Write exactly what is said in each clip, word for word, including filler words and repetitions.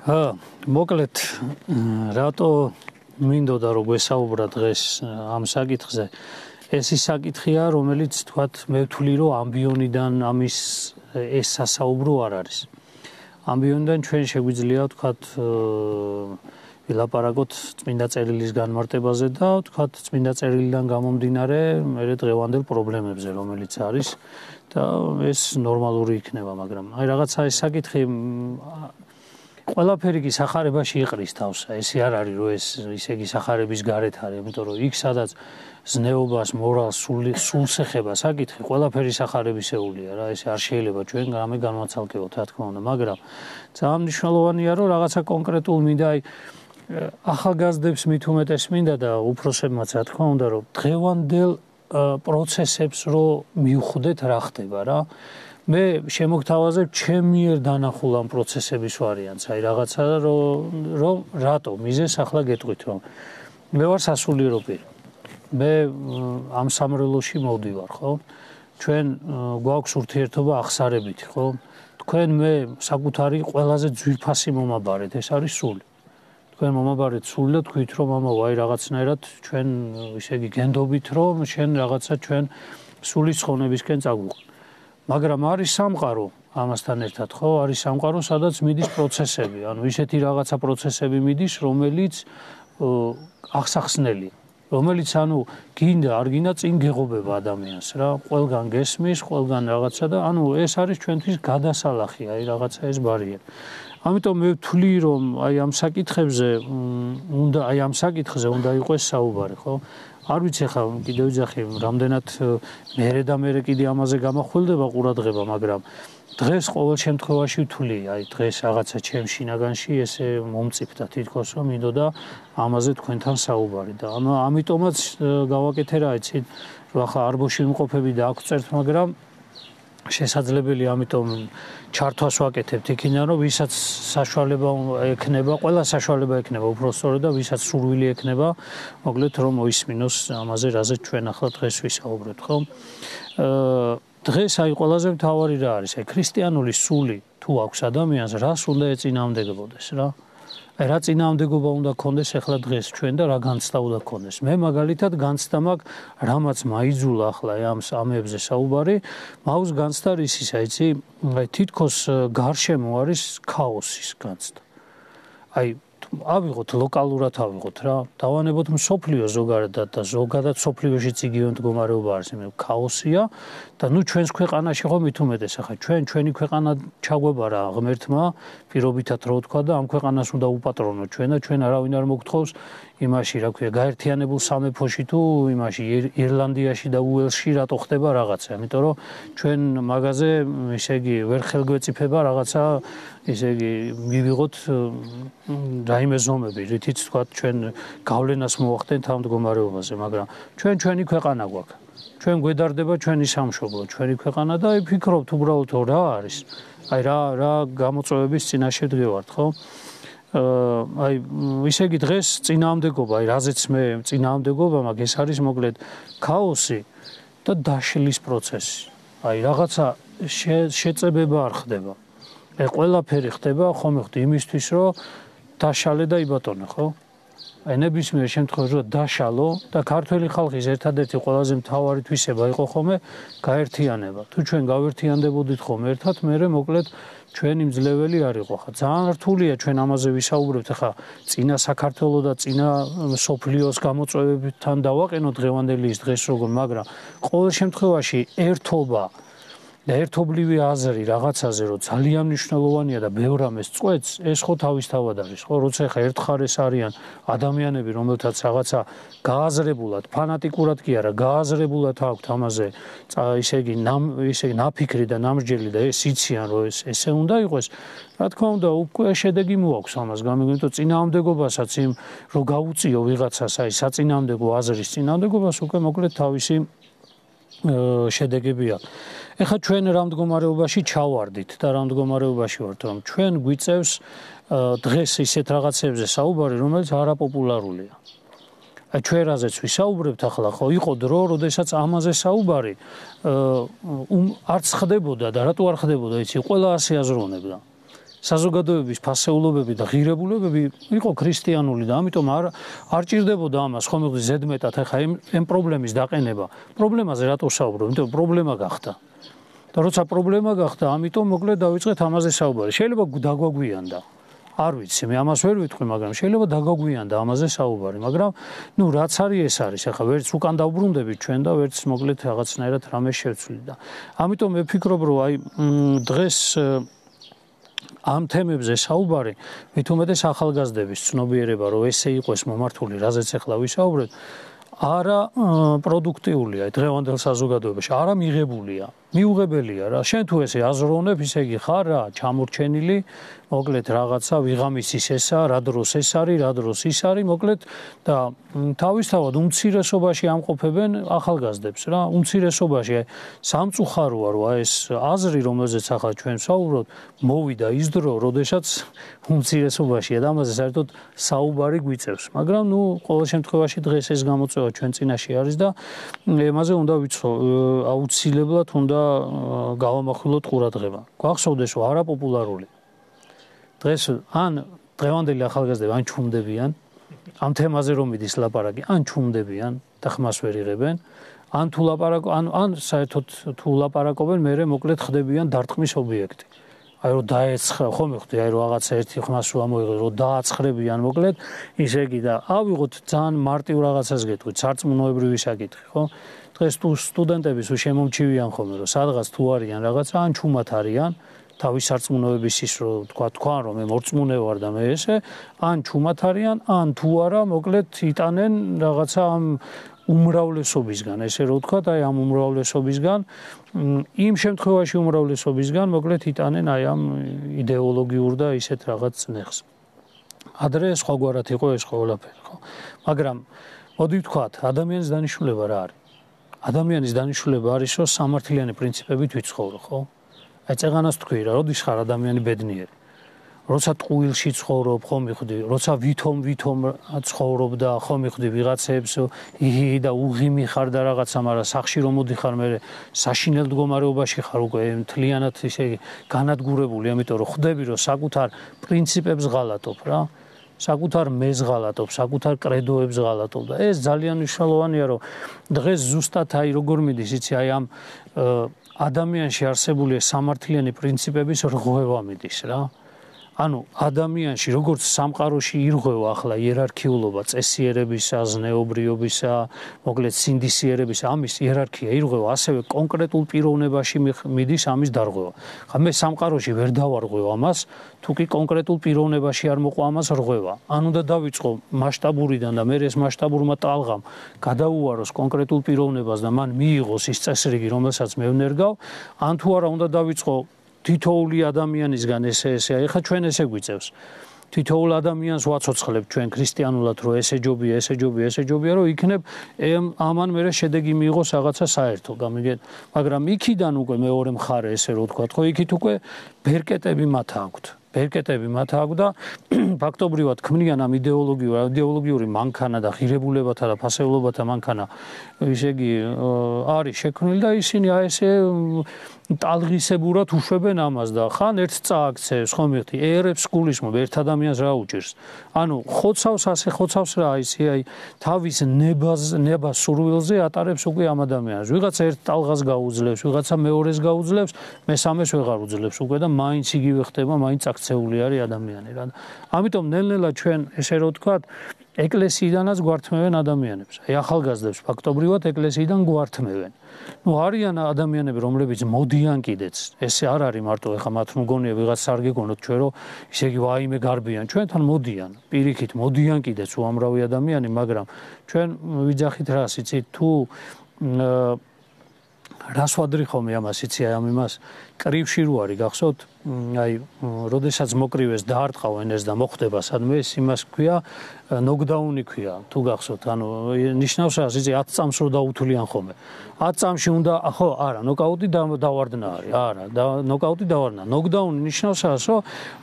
ა მოკლედ რატო მინდოდა რომ გვესაუბრა დღეს ამ საკითხზე ეს ის საკითხია რომელიც თქვათ მე ვთვლი რომ ამბიონიდან ამის ეს სასაუბრო არ არის ამბიონიდან ჩვენ შეგვიძლია თქვათ ვილაპარაკოთ წმინდა წერილის განმარტებაზე და თქვათ წმინდა წერილიდან გამომდინარე მე დღევანდელ პრობლემებზე რომელიც არის და ეს ნორმალური იქნება მაგრამ აი რაღაცა ეს საკითხი ყველაფერი კი სახარებაში იყრის თავს ესე არ არის რომ ეს ისე იგი სახარების გარეთ არის იმიტომ რომ იქ სადაც ზნეობას მორალს სულს ეხება საკითხი ყველაფერი სახარებისეულია რა ესე არ შეიძლება ჩვენ გამე განმაცალკევოთ რა თქმა უნდა მაგრამ ძალიან მნიშვნელოვანია რომ რაღაცა კონკრეტულ მინდა აი ახალგაზრდებს მით უმეტეს მინდა და უფროსებმაც რა თქმა უნდა რომ დღევანდელ პროცესებს რო მივხვდეთ რა ხდება რა მე შემოგთავაზებ ჩემ მიერ დანახულ ამ პროცესების ვარიანტს აი რაღაცა რომ რომ რატო მიზეს ახლა გეტყვით რომ მე ვარ სასულიერო პირი მე ამ სამრელოში მოვდივარ ხო ჩვენ გვაქვს ურთიერთობა ახსარებითი ხო თქვენ მე საკუთარი ყველაზე ძვირფასი მომაბარეთ ეს არის სული თქვენ მომაბარეთ სული და თქვით რომ მამა ვაი რაღაცნაირად ჩვენ ისე იგი გენდობით რომ შენ რაღაცა ჩვენ სულის ცხონებისკენ წაგვიყვან მაგრამ არის სამყარო ამასთან ერთად ხო არის სამყარო სადაც მიდის პროცესები ანუ ისეთი რაღაცა პროცესები მიდის რომელიც ახსახსნელია რომელიც ანუ გინდა არ გინდა წინ გეღობება ადამიანს რა ყველგან გესმის ყველგან რაღაცა და ანუ ეს არის ჩვენთვის გადასალახი აი რაღაცა ეს ბარიერი ამიტომ მე ვთვლი რომ აი ამ საკითხებზე უნდა აი ამ საკითხზე უნდა იყოს საუბარი ხო არ ვიცი ხა კიდევ ვიძახი რამდენად მერე და მერე კიდე ამაზე გამახვილდება ყურადღება მაგრამ დღეს ყოველ შემთხვევაში ვთვლი აი დღეს რაღაცა ჩემ შინაგანში ესე მომწიფდა თითქოს რომ მინდოდა ამაზე თქვენთან საუბარი და ამიტომაც გავაკეთე რა იცით რომ ახლა არბოში ვიმყოფები და აქ ვწერთ მაგრამ შესაძლებელი ამიტომ ჩართვას ვაკეთებთ იქიდან რომ ვისაც საშუალება ექნება ყველა საშუალება ექნება უბრალოდ და ვისაც სურვილი ექნება მოკლედ რომ მოისმინოს ამაზე რაზეც ჩვენ ახლა დღეს ვისაუბრებთ ხო დღეს აი ყველაზე მთავარი რა არის აი ქრისტიანული სული თუ აქვს ადამიანს რას უნდა ეწინააღმდეგებოდეს რა აი რა წინააღმდეგობა უნდა ქონდეს ახლა დღეს ჩვენ და რა განცდა უნდა ქონდეს მე მაგალითად განცდა მაქვს რამაც მაიძულა ახლა ამ ამებზე საუბარი მაქვს განცდა რისის აიცი აი თითქოს გარშემო არის ქაოსის განცდა აი ავიღოთ ლოკალურად ავიღოთ რა დავანებოთ მსოფლიო ზოგადად და ზოგადად მსოფლიოშიც იგივე მდგომარეობა არის მე ქაოსია და ნუ ჩვენს ქვეყანაში ხო მით უმეტეს ახლა ჩვენ ჩვენი ქვეყანა ჩაგვება რა ღმერთმა პირობითად რო თქვა და ამ ქვეყანას უნდა უპატრონოთ ჩვენ და ჩვენ არავინ არ მოგთხოვს იმაში რა ქვია გაერთიანებულ სამეფოში თუ იმაში ირლანდიაში და უელსში რატო ხდება რაღაცა იმიტომ რომ ჩვენ მაგაზე ესე იგი ვერ ხელგვეწიფება რაღაცა ესე იგი მივიღოთ რაიმე ზომები რითიც თქვა ჩვენ გავლენას მოახდენთ ამ მდგომარეობაზე მაგრამ ჩვენ ჩვენი ქვეყანა გვაქვს ჩვენ გვედარდება ჩვენი სამშობლო ჩვენი ქვეყანა და აი ფიქრობთ უბრალოდ რა არის აი რა რა გამოწვევების წინაშე ვდგევართ ხო აი ისე იგი დღეს წინააღმდეგობა აი რაზეც მე წინააღმდეგობა მაგ ეს არის მოკლედ ქაოსი და დაშლის პროცესი აი რაღაცა შეწებება არ ხდება აი ყველაფერი ხდება ხომ ხდება იმისთვის რომ დაშალე და იბატონე ხო აი ნებისმიერ შემთხვევაში რომ დაშალო და ქართველი ხალხის ერთადერთი ყველაზე მთავარი თვისება იყო ხოლმე გაერთიანება თუ ჩვენ გავერთიანდებოდით ხოლმე ერთად მე მოკლედ ჩვენი მძლეველი არ იყო ხა ძალიან რთულია ჩვენ ამაზე ვისაუბრებთ ხა წინა საქართველო და წინა სოფლიოს გამოწვევებთან დავაყენოთ დღევანდელი ის დღეს როგორ მაგრამ ყოველ შემთხვევაში ერთობა და ერთობლივი აზრი რაღაცაზე რომ ძალიან მნიშვნელოვანია და ბევრ რამეს წყვეტს ეს ხო თავისთავად არის ხო როცა ხა ერთხარეს არიან ადამიანები რომელთაც რაღაცა გააზრებულად ფანატიკურად კი არა გააზრებულად აქვთ ამაზე ისე იგი ისე ნაფიქრი და ნამსჯელი და ეს იციან რომ ეს ესე უნდა იყოს რა თქმა უნდა უკვე შედეგი მოაქვს ამას გამიგონებთ წინააღმდეგობასაც იმ რომ გაუწიო ვიღაცას აი საწინააღმდეგო აზრის წინააღმდეგობას უკვე მოკლედ თავისი შედეგები აქვს ეხლა ჩვენ რა მდგომარეობაში ჩავარდით და რა მდგომარეობაში ვართ რომ ჩვენ გვიწევს დღეს ისეთ რაღაცებზე საუბარი რომელიც არაპოპულარულია აი ჩვენ რაზეც ვისაუბრებთ ახლა ხო იყო დრო როდესაც ამაზე საუბარი არც ხდებოდა და რატო არ ხდებოდა იცი ყველა ასე აზროვნებდა საზოგადოების ფასეულობები და ღირებულებები იყო ქრისტიანული და ამიტომ არ არ ჭირდებოდა ამას ხომ მიგდე ზედმეტად ახლა ამ პრობლემის დაყენება. პრობლემაზე რატო საუბრობ? იმიტომ პრობლემა გახდა. და როცა პრობლემა გახდა, ამიტომ მოკლედ დავიწყეთ ამაზე საუბარი. შეიძლება დაგვაგვიანდა. არ ვიცი, მე ამას ვერ ვიტყვი, მაგრამ შეიძლება დაგაგვიანდა ამაზე საუბარი, მაგრამ ნუ რაც არის ეს არის, ახლა ვერც უკან დავბრუნდებით ჩვენ და ვერც მოკლედ რაღაცნაირად რამე შევცვლით და ამიტომ მე ვფიქრობ, რომ აი დღეს ამ თემებზე საუბარი მით უმეტეს ახალგაზრდების ცნობიერება, რომ ესე იყოს მომართული, რაზეც ახლა ვისაუბრეთ, არა პროდუქტიულია დღევანდელ საზოგადოებაში, არა მიღებულია. მიუღებელია რა. შენ თუ ესე აზროვნებ, ისე იგი ხარ რა, ჩამორჩენილი, მოკლედ რაღაცა ვიღამისის ესა, რა დროს ეს არის, რა დროს ის არის, მოკლედ და თავისთავად უმცირესობაში ამყოფებენ ახალგაზრდებს რა. უმცირესობაში სამწუხაროა, რომ ეს აზრი, რომელზეც ახლა ჩვენ საუბრობთ, მოვიდა ის დრო, როდესაც უმცირესობაშია და ამაზე საერთოდ საუბარი გვიწევს. მაგრამ ნუ ყოველ შემთხვევაში დღეს ეს გამოწვევა ჩვენ წინაშე არის და ემაზე უნდა ვიცხო, აუცილებლად უნდა გავამახვილოთ ყურადღება. გვახსოვდეს, რომ არაპოპულარული დღეს ან დღევანდელი ახალგაზრდები ან ჩუმდებიან ამ თემაზე რომ მიდის ლაპარაკი, ან ჩუმდებიან და ხმას ვერ იღებენ, ან თუ ლაპარაკ ან ან საერთოდ თუ ლაპარაკობენ, მერე მოკლედ ხდებიან დარტყმის ობიექტი. აი რომ დაეცხრა, ხო მივხვდი, აი რომ რაღაცა ერთი ხმას რომ ამოიღე, რომ დააცხრებიან მოკლედ, ისე იგი და ავიღოთ ძალიან მარტივ რაღაცას გეტყვით, სარწმუნოებრივი საკითხი, ხო? დღეს თუ სტუდენტები თუ შემომჩივიან ხოლმე, რომ სადღაც თუ არიან რაღაცა, ან ჩუმად არიან, თავის სარწმუნოების ის რომ თქვა თქვა რომ მე მორწმუნე ვარ და მე ესე, ან ჩუმად არიან, ან თუ არა, მოკლედ იტანენ რაღაცა ამ უმრავლესობისგან, ესე რომ ვთქვა, აი ამ უმრავლესობისგან, იმ შემთხვევაში უმრავლესობისგან, მოკლედ იტანენ აი ამ იდეოლოგიურ და ისეთ რაღაც წნეხს. ადრე სხვაგვარად იყო ეს ყველაფერი, ხო? მაგრამ მოდი ვთქვათ, ადამიანის დანიშნულება რა არის? ადამიანის დანიშნულება არის, რომ სამართლიანი პრინციპებით ვიცხოვრო, ხო? აი წეღანას თქვი რა, როდის ხარ ადამიანი ბედნიერი? როცა ტყუილში ცხოვრობ, ხო მივხვდი, როცა ვითომ ვითომ ცხოვრობ და ხო მივხვდი ვიღაცებს იჰი და უღიმი ხარ და რაღაცა, მაგრამ სახში რომ მოდიხარ, მე საშინელ მდგომარეობაში ხარ უკვე მთლიანად ისე განადგურებული, ამიტომ რომ ხვდები, რომ საკუთარ პრინციპებს ღალატობ რა. საკუთარ მეზს ღალატობ, საკუთარ კრედოებს ღალატობ და ეს ძალიან მნიშვნელოვანია, რომ დღეს ზუსტად აი როგორ მიდის, იცი, აი ამ ადამიანში არსებული სამართლიანი პრინციპების რღვევა მიდის რა. ანუ ადამიანში როგორც სამყაროში ირღვევა ახლა იერარქიულობა, წესიერებისა, ზნეობრიობისა, მოკლედ სინდისიერებისა, ამის იერარქია ირღვევა, ასევე კონკრეტულ პიროვნებაში მიდის ამის დარღვევა. ხა მე სამყაროში ვერ დავარღვევ ამას, თუ კი კონკრეტულ პიროვნებაში არ მოყვა ამას რღვევა. ან უნდა დავიწყო მასშტაბურიდან და მე ეს მასშტაბურმა ტალღამ გადაუაროს კონკრეტულ პიროვნებას და მან მიიღოს ის წესრიგი, რომელსაც მე ვნერგავ, ან თუ არა უნდა დავიწყო თითოეული ადამიანისგან ესე ესე, ეხლა ჩვენ ესე გვიწევს. თითოეულ ადამიანს ვაცოცხლებთ ჩვენ ქრისტიანულად, რომ ესე ჯობია, ესე ჯობია, ესე ჯობია, რომ იქნებ ამან მერე შედეგი მიიღოს რაღაცა საერთო, გამიგეთ? მაგრამ იქიდან უკვე მეორე მხარე ესე რომ ვთქვათ, ხო, იქით უკვე ბერკეტები მათ აქვთ. ბერკეტები მათ აქვთ და ფაქტობრივად ქმნიან ამ იდეოლოგიურ, იდეოლოგიური მანქანა და ღირებულებათა და ფასეულობათა მანქანა, ისე იგი არის შექმნილი და ისინი აი ესე ტალღისებურად უშვებენ ამას და ხან ერთ წააქცევს, ხო მიხდი, ერებს გულისხმობ ერთ ადამიანს რა უჭირს. ანუ ხოცავს ასე ხოცავს რა, ისე აი თავის ნებას ნებას სურვილზე ატარებს უკვე ამ ადამიანს. ვიღაცა ერთ ტალღას გაუძლებს, ვიღაცა მეორეს გაუძლებს, მესამეს ვეღარ უძლებს უკვე და მაინც იგივე ხდება, მაინც აქცეული არის ადამიანი რა. ამიტომ ნელ-ნელა ჩვენ ესე რომ ვთქვათ, ეკლესიიდანაც გვართმევენ ადამიანებს. აი ახალგაზრდებს ფაქტობრივად ეკლესიიდან გვართმევენ. ნუ არიან ადამიანები, რომლებიც მოდიან კიდეც. ესე არ არის მარტო ეხა მათ მგონია ვიღაც არ გეგონოთ ჩვენ, რომ ისე იგი ვაიმე გარბიან. ჩვენთან მოდიან, პირიქით მოდიან კიდეც უამრავი ადამიანი, მაგრამ ჩვენ ვიძახით რას, იცით, თუ რას ვადრი ხოლმე ამას, იცი, აი ამ იმას კრივში რო არის გახსოვთ, აი როდესაც მოკრივეს დაარტყავენ ეს და მოხდება სადმე ეს იმას ქვია ნოკდაუნი ქვია, თუ გახსოვთ, ანუ ნიშნავს რას, იცი, ათ წამს რო დაუთვლიან ხოლმე. ათ წამში უნდა, ხო, არა, ნოკაუტი დავარდნა არის, არა, ნოკაუტი დავარდნა. ნოკდაუნი ნიშნავს რას,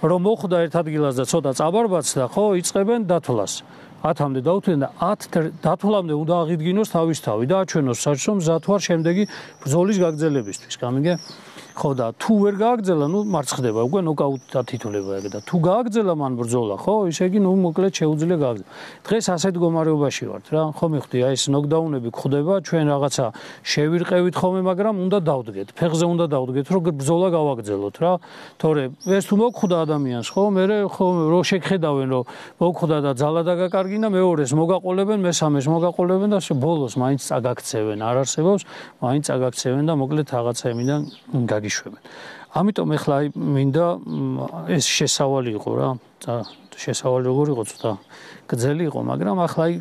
რომ მოხდა ერთ ადგილას და ცოტა წაბარბაცდა, ხო, იწყებენ დათვლას. ათამდე დაუთვლენ და ათ დათვლამდე უნდა აღიდგინოს თავის თავი და აჩვენოს საჭმელ მზად ვარ შემდეგი ბრძოლის გაგრძელებისთვის, გამიგე? ხო და თუ ვერ გააგრძელა, ნუ მარცხდება, უკვე ნოკაუტად თითოლება ეგ და თუ გააგრძელა მან ბრძოლა, ხო, ისე იგი ნუ მოკლედ შეუძლია გააგრძელა. დღეს ასეთ მდგომარეობაში ვართ რა, ხო მიხდი, აი ეს ნოკდაუნები გხდება, ჩვენ რაღაცა შევირყევით ხოლმე, მაგრამ უნდა დავდგეთ, ფეხზე უნდა დავდგეთ, რომ ბრძოლა გავაგრძელოთ რა. თორე ეს თუ მოგხვდა ადამიანს, ხო, მე ხო რო შეგხედავენ, რომ მოგხვდა და ძალა დაგაკარგინა, მეორეს მოგაყოლებენ, მესამეს მოგაყოლებენ და ბოლოს მაინც წაგაქცევენ, არ არსებობს, მაინც წაგაქცევენ და მოკლედ რაღაცა იმიდან გაგიშვებენ. ამიტომ ეხლა აი მინდა ეს შესავალი იყო რა, შესავალი როგორ იყო ცოტა გრძელი იყო, მაგრამ ახლა აი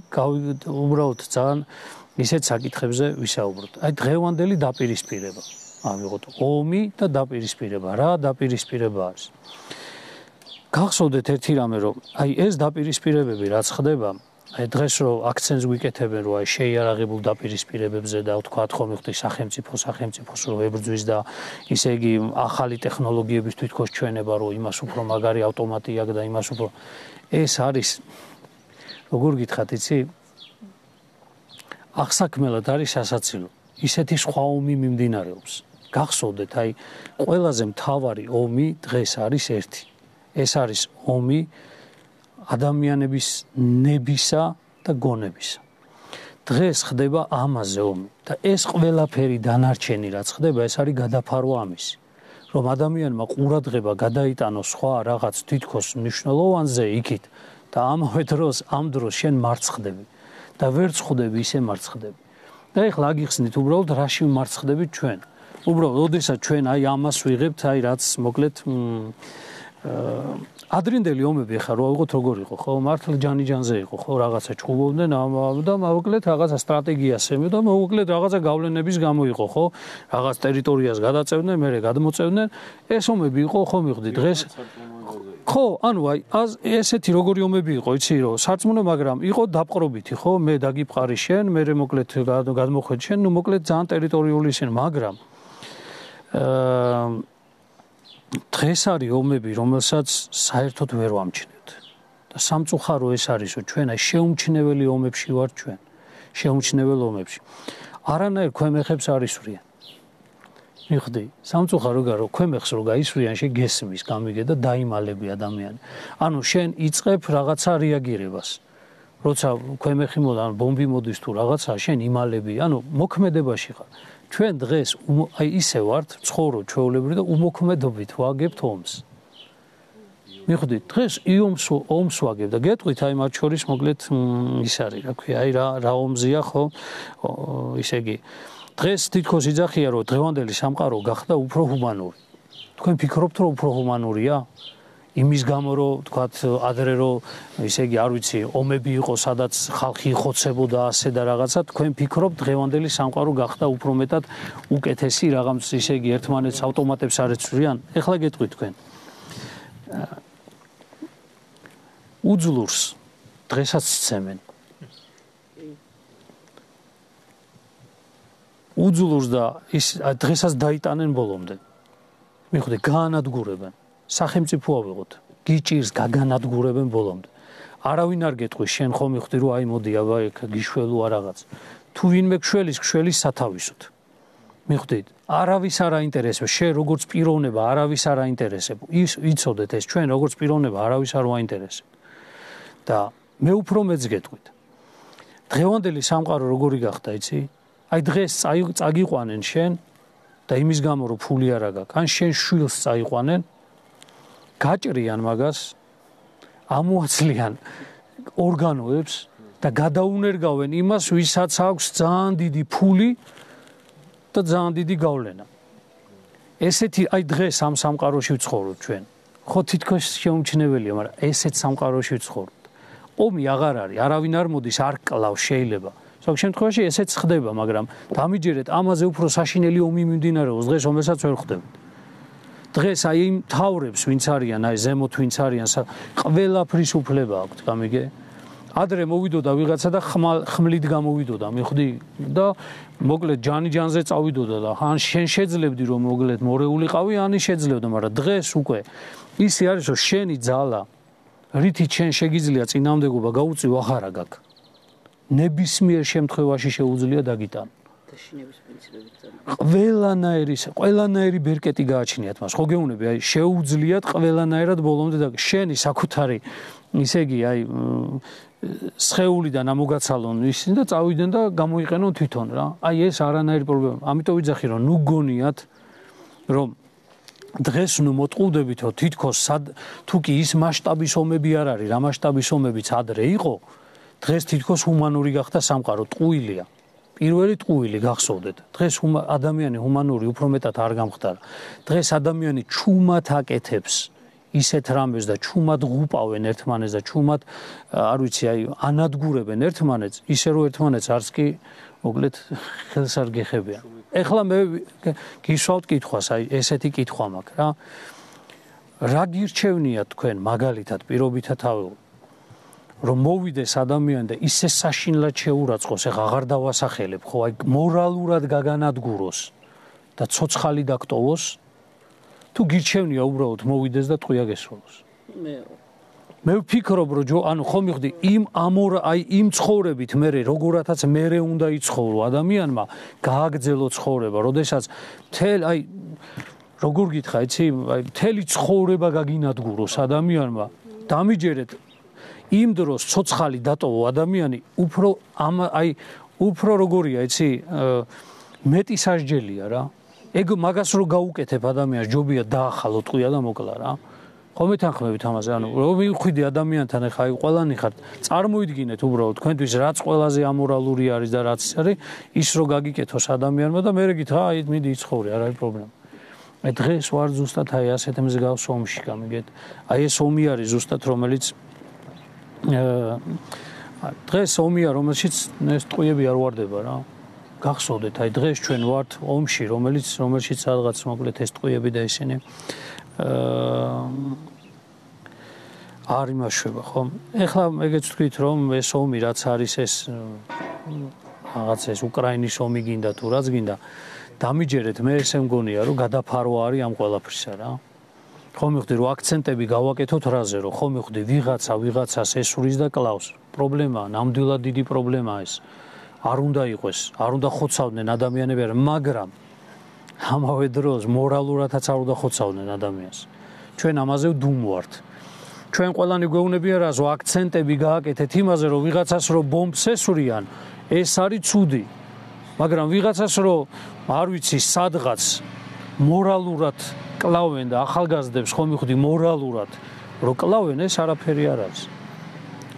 უბრალოდ ძალიან ისეთ საკითხებზე ვისაუბროთ. აი დღევანდელი დაპირისპირება. ავიღოთ ომი და დაპირისპირება. რა დაპირისპირება არის? გახსოვდეთ ერთი რამე, რომ აი ეს დაპირისპირებები რაც ხდება, აი დღეს რო აქცენტს ვიკეთებენ, რომ აი შეიარაღებულ დაპირისპირებებზე და ვთქვათ ხომ ხდი სახელმწიფო სახელმწიფოს რო ებრძვის და ისე იგი ახალი ტექნოლოგიების თვითქოს ჩვენება, რომ იმას უფრო მაგარი ავტომატი აქვს და იმას უფრო ეს არის როგორ გითხრათ, იცი? აღსაქმელად არის სასაცილო. ისეთი სხვა ომი მიმდინარეობს. გახსოვდეთ, აი ყველაზე მთავარი ომი დღეს არის ერთი. ეს არის ომი ადამიანების ნებისა და გონებისა. დღეს ხდება ამაზე ომი და ეს ყველაფერი დანარჩენი რაც ხდება, ეს არის გადაფარვა ამისი. რომ ადამიანმა ყურადღება გადაიტანოს სხვა რაღაც თითქოს მნიშვნელოვანზე იქით და ამავე დროს ამ დროს შენ მარცხდები და ვერ ცხდები ისე მარცხდები. და ეხლა აგიხსნით უბრალოდ რაში მარცხდებით ჩვენ. უბრალოდ ოდესაც ჩვენ აი ამას ვიღებთ, აი რაც მოკლედ ადრინდელი ომები ხა რო ავიღოთ როგორ იყო, ხო, მართლა ჯანი-ჯანზე იყო, ხო, რაღაცა ჩხუბობდნენ და მოკლედ რაღაცა სტრატეგიას ემი და მოკლედ რაღაცა გავლენების გამო იყო, ხო, რაღაც ტერიტორიას გადაწევდნენ, მერე გადმოწევდნენ, ეს ომები იყო, ხო მივხვდი დღეს. ხო, ანუ აი ესეთი როგორი ომები იყო, იცი რომ სარწმუნო, მაგრამ იყო დაპყრობითი, ხო, მე დაგიფყარი შენ, მერე მოკლედ გადმოხვედი შენ, ნუ მოკლედ ძალიან ტერიტორიული ისინი, მაგრამ აა დღეს არის ომები, რომელსაც საერთოდ ვერ ვამჩნევთ. და სამწუხარო ეს არის, რომ ჩვენ აი შეუმჩნეველი ომებში ვართ ჩვენ. შეუმჩნეველ ომებში. არანაირ ქვემეხებს არ ისვრიან. მიხდი, სამწუხარო გარო ქვემეხს რო გაისვრიან, შეგესმის, გამიგე და დაიმალები ადამიანი. ანუ შენ იწყებ რაღაცა რეაგირებას. როცა ქვემეხი მოდა, ბომბი მოდის თუ რაღაცა, შენ იმალები, ანუ მოქმედებაში ხარ. ჩვენ დღეს აი ისე ვართ, ცხოვრობ ჩვეულებრივ და უმოქმედობით ვაგებთ ომს. მიხვდით, დღეს ომს ომს ვაგებ და გეტყვით, აი მათ შორის მოკლედ ის არის, რა ქვია, აი რა რა ომზია, ხო? ისე იგი. დღეს თითქოს იძახია, რომ დღევანდელი სამყარო გახდა უფრო ჰუმანური. თქვენ ფიქრობთ, რომ უფრო ჰუმანურია? იმის გამო რომ თქვათ ადრე რომ ისე იგი არ ვიცი ომები იყო სადაც ხალხი იხოცებოდა ასე და რაღაცა თქვენ ფიქრობთ დღევანდელი სამყარო გახდა უფრო მეტად უკეთესი რაღაც ისე იგი ერთმანეთს ავტომატებს არ ეცვლიან ეხლა გეტყვით თქვენ უძლურს დღესაც სცემენ უძლურს და ის დღესაც დაიტანენ ბოლომდე მიხვდი გაანადგურებენ სახელმწიფო ავიღოთ გიჭირს გაგანადგურებენ ბოლომდე არავინ არ გეტყვის შენ ხომ მიხდი რომ აი მოდი აბა ეგ გიშველოა რაღაც თუ ვინმე გშველის გშველის სათავისოთ მიხვდით არავის არ აინტერესებს შენ როგორც პიროვნება არავის არ აინტერესებს ის იცოდეთ ეს ჩვენ როგორც პიროვნება არავის არ ვაინტერესებს და მე უფრო მეც გეტყვით დღევანდელი სამყარო როგორი გახდა იცი აი დღეს წაგიყვანენ შენ და იმის გამო რომ ფული არ აქვს ან შენ შვილს წაიყვანენ გაჭრიან მაგას ამოაცლიან ორგანოებს და გადაუნერგავენ იმას ვისაც აქვს ძალიან დიდი ფული და ძალიან დიდი გავლენა ესეთი აი დღეს ამ სამყაროში ვცხოვრობ ჩვენ ხო თითქოს შეუმჩნეველია მაგრამ ესეთ სამყაროში ვცხოვრობ ომი აღარ არის არავინ არ მოდის არ კლავს შეიძლება ზოგ შემთხვევაში ესეც ხდება მაგრამ დამიჯერეთ ამაზე უფრო საშინელი ომი მიმდინარეობს დღეს რომელსაც ვერ ხდებთ დღეს აი იმ თავრებს ვინც არიან აი ზემოთ ვინც არიან ყველაფრის უფლება აქვთ გამიგე ადრე მოვიდოდა ვიღაცა და ხმლით გამოვიდოდა მიხვდი და მოკლედ ჯანი-ჯანზე წავიდოდა და ან შენ შეძლებდი რომ მოკლედ მორეულიყავი ანი შეძლებდა მაგრამ დღეს უკვე ისე არის რომ შენი ძალა რითი შენ შეგიძლია წინამდებობა გაუწიო აღარა გაქვს ნებისმიერ შემთხვევაში შეუძლია დაგიტანო ყველანაირი ყველანაირი ბერკეტი გააჩნიათ მას. ხო გეუბნები, აი შეუძლიათ ყველანაირად ბოლომდე და შენი საკუთარი ისე იგი აი სხეულიდან ამოგაცალონ ისინი და წავიდნენ და გამოიყენონ თვითონ რა. აი ეს არანაირი პრობლემა. ამიტომ ვიძახი რომ ნუ გონიათ რომ დღეს ნუ მოტყუდებითო თითქოს თუ კი ის მასშტაბის ომები არ არის, რა მასშტაბის ომებიც ადრე იყო, დღეს თითქოს ჰუმანური გახდა სამყარო, ტყუილია. პირველი ტყუილი გახსოვდეთ. დღეს ადამიანი ჰუმანური უფრო მეტად არ გამხდარა. დღეს ადამიანი ჩუმად აკეთებს ისეთ რამეს და ჩუმად ღუპავენ ერთმანეთს და ჩუმად არ ვიცი აი ანადგურებენ ერთმანეთს, ისე რომ ერთმანეთს არც კი მოკლედ ხელს არ გეხებიან. ეხლა მე გისვავთ კითხვას, აი ესეთი კითხვა მაქვს რა. რა გირჩევნიათ თქვენ მაგალითად პირობითად ავიღო რომ მოვიდეს ადამიანი და ისე საშინლად შეურაცხოს, ეხა აღარ დავასახელებ, ხო, აი მორალურად გაგანადგუროს და ცოცხალი დაკტოვოს, თუ გირჩევნია უბრალოდ მოვიდეს და ტყვია გესროლოს. მე მე ვფიქრობ, რომ ჯო, ანუ ხო მივხვდი, იმ ამორ აი იმ ცხოვრებით მე როგორათაც მე უნდა იცხოვრო ადამიანმა, გააგრძელო ცხოვრება, როდესაც თელ აი როგორ გითხრა, იცი, აი მთელი ცხოვრება გაგინადგუროს ადამიანმა, დამიჯერეთ იმ დროს ცოცხალი დატოვო ადამიანი უფრო ამ აი უფრო როგორია იცი მეტი სასჯელია რა. ეგ მაგას რო გაუკეთებ ადამიანს ჯობია დაახალო ტყვია და მოკლა რა. ხო მეთანხმებით ამაზე, ანუ რომ მივხვდი ადამიანთან ახლა აი ყველანი ხართ, წარმოიდგინეთ უბრალოდ თქვენთვის რაც ყველაზე ამორალური არის და რაც არის, ის რო გაგიკეთოს ადამიანმა და მე გითხრა აი მიდი იცხოვრე, არ არის პრობლემა. მე დღეს ვარ ზუსტად აი ასეთ მსგავს ომში გამიგეთ. აი ეს ომი არის ზუსტად რომელიც დღეს ომია რომელშიც ეს ტყვიები არ ვარდება რა. გახსოვდეთ აი დღეს ჩვენ ვართ ომში რომელიც რომელშიც რაღაც მოკლედ ეს ტყვიები და ისინი არ იმაშვება ხო. ეხლა ეგეც თქვით რომ ეს ომი რაც არის ეს რაღაც ეს უკრაინის ომი გინდა თუ რაც გინდა დამიჯერეთ მე ესე მგონია რომ გადაფარო არის ამ ყველაფრისა რა. ხო მივხვდი რომ აქცენტები გავაკეთოთ რაზე რომ ხო მივხვდი ვიღაცა ვიღაცას ესურის და კლავს. პრობლემაა, ნამდვილად დიდი პრობლემაა ეს. არ უნდა იყოს, არ უნდა ხოცავდნენ ადამიანები, მაგრამ ამავე დროს მორალურადაც არ უნდა ხოცავდნენ ადამიანს. ჩვენ ამაზე ვდუმვართ. ჩვენ ყველანი გვეუბნებია რა, რომ აქცენტები გააკეთეთ იმაზე, რომ ვიღაცას რო ბომბს ესურიან, ეს არის ცუდი. მაგრამ ვიღაცას რო არ ვიცი, სადღაც მორალურად კლავენ და ახალგაზრდებს ხო მივხვდი მორალურად რო კლავენ, ეს არაფერი არ არის.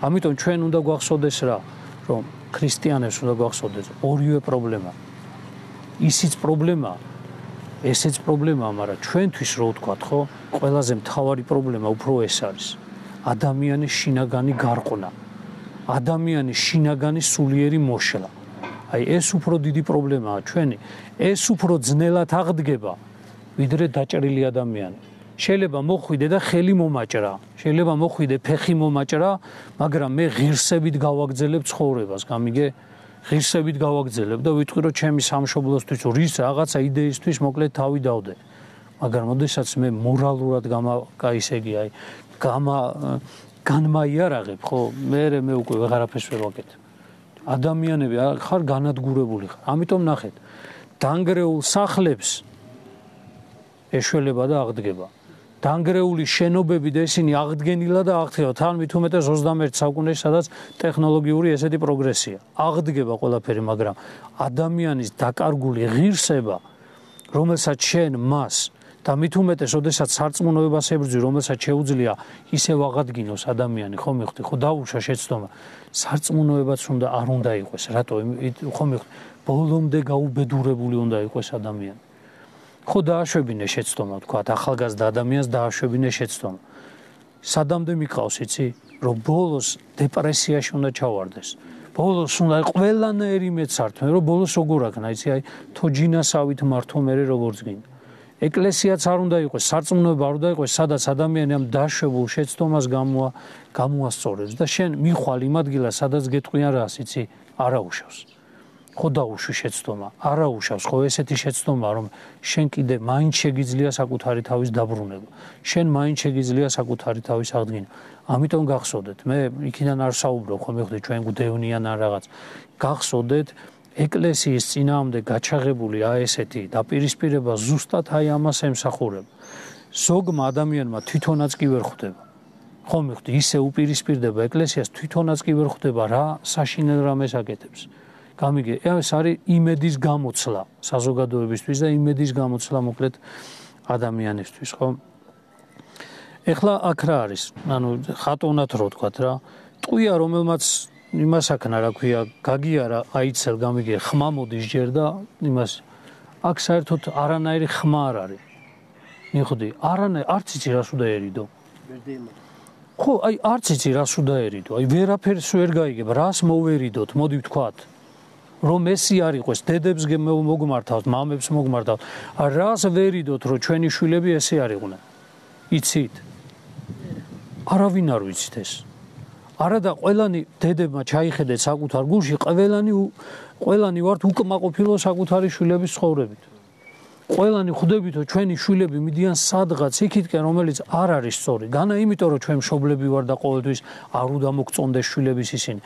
ამიტომ ჩვენ უნდა გვახსოვდეს რა, რომ ქრისტიანებს უნდა გვახსოვდეს ორივე პრობლემა. ისიც პრობლემაა, ესეც პრობლემაა, მაგრამ ჩვენთვის რო ვთქვათ, ხო, ყველაზე მთავარი პრობლემა უფრო ეს არის. ადამიანის შინაგანი გარყვნა, ადამიანის შინაგანი სულიერი მოშლა. აი ეს უფრო დიდი პრობლემაა ჩვენი, ეს უფრო ძნელად აღდგება, ვიდრე დაჭრილი ადამიანი. შეიძლება მოხვიდე და ხელი მომაჭრა, შეიძლება მოხვიდე ფეხი მომაჭრა, მაგრამ მე ღირსებით გავაგრძელებ ცხოვრებას, გამიგე? ღირსებით გავაგრძელებ და ვიტყვი რომ ჩემი სამშობლოსთვის რის რაღაცა იდეისთვის მოკლედ თავი დავდე. მაგრამ ოდესაც მე მორალურად გამაკაისეგი, აი, გამა განმაიარაღებ, ხო, მე მე უკვე ვეღარაფერს ვერ ვაკეთებ. ადამიანები ხარ განადგურებული ხარ. ამიტომ ნახეთ, დანგრეულ სახლებს ეშველება და აღდგება. დანგრეული შენობები და ისინი აღდგენილა და აღდგება. თან მით უმეტეს ოცდამეერთე საუკუნეში, სადაც ტექნოლოგიური ესეთი პროგრესია. აღდგება ყველაფერი, მაგრამ ადამიანის დაკარგული ღირსება, რომელსაც შენ მას და მით უმეტეს, ოდესაც სარწმუნოებას ებრძვი, რომელსაც შეუძლია ისევ აღადგინოს ადამიანი, ხო მივხვდი, ხო დაუშვა შეცდომა. სარწმუნოებაც უნდა არ უნდა იყოს, რატო? ხო მივხვდი, ბოლომდე გაუბედურებული უნდა იყოს ადამიანი. ხო დააშვებინე შეცდომა, თქვა, ახალგაზრდა ადამიანს დააშვებინე შეცდომა. სადამდე მიყავს, იცი, რომ ბოლოს დეპრესიაში უნდა ჩავარდეს. ბოლოს უნდა ყველანაირი მეცართმე, რომ ბოლოს როგორ აქნა, იცი, აი, თოჯინასავით მართო მერე როგორც გინდა. ეკლესიაც არ უნდა იყოს, სარწმუნოება არ უნდა იყოს, სადაც ადამიანი ამ დაშვებულ შეცდომას გამოა გამოასწორებს და შენ მიხვალ იმ ადგილას, სადაც გეტყვიან რას, იცი, არაუშავს. ხო დაუშვი შეცდომა, არაუშავს, ხო ესეთი შეცდომა, რომ შენ კიდე მაინც შეგიძლია საკუთარი თავის დაბრუნება. შენ მაინც შეგიძლია საკუთარი თავის აღდგენა. ამიტომ გახსოვდეთ, მე იქიდან არ საუბრობ, ხო მივხვდი ჩვენ გვდევნიან ან რაღაც. გახსოვდეთ ეკლესიის წინააღმდეგ გაჩაღებული აი ესეთი დაპირისპირება ზუსტად აი ამას ემსახურება. ზოგმა ადამიანმა თვითონაც კი ვერ ხვდება. ხომ მივხვდი, ისე უპირისპირდება ეკლესიას, თვითონაც კი ვერ ხვდება რა საშინელ რამეს აკეთებს. გამიგე, ეს არის იმედის გამოცლა საზოგადოებისთვის და იმედის გამოცლა მოკლედ ადამიანისთვის, ხო? ეხლა აქ რა არის? ანუ ხატონად რო თქვათ რა, ტყვია რომელმაც იმას აქნა რა ქვია, გაგიარა, აიცელ, გამიგე, ხმა მოდის ჯერ და იმას აქ საერთოდ არანაირი ხმა არ არის. მიხვდი, არანაირი არც იცი რას უნდა ერიდო. ხო, აი არც იცი რას უნდა ერიდო. აი ვერაფერს ვერ გაიგებ, რას მოვერიდოთ, მოდი ვთქვათ. რომ ესი არ იყოს, დედებს მოგმართავს, მამებს მოგმართავს. რას ვერიდოთ, რომ ჩვენი შვილები ესე არ იყვნენ? იცით? არავინ არ ვიცით ეს. არა და ყველანი დედებმა ჩაიხედეთ საკუთარ გულში, ყველანი ყველანი ვართ უკმაყოფილო საკუთარი შვილების ცხოვრებით. ყველანი ხვდებითო ჩვენი შვილები მიდიან სადღაც იქითკენ, რომელიც არ არის სწორი. განა იმიტომ რომ ჩვენ მშობლები ვარ და ყოველთვის არ უნდა მოგწონდეს შვილების ისინი.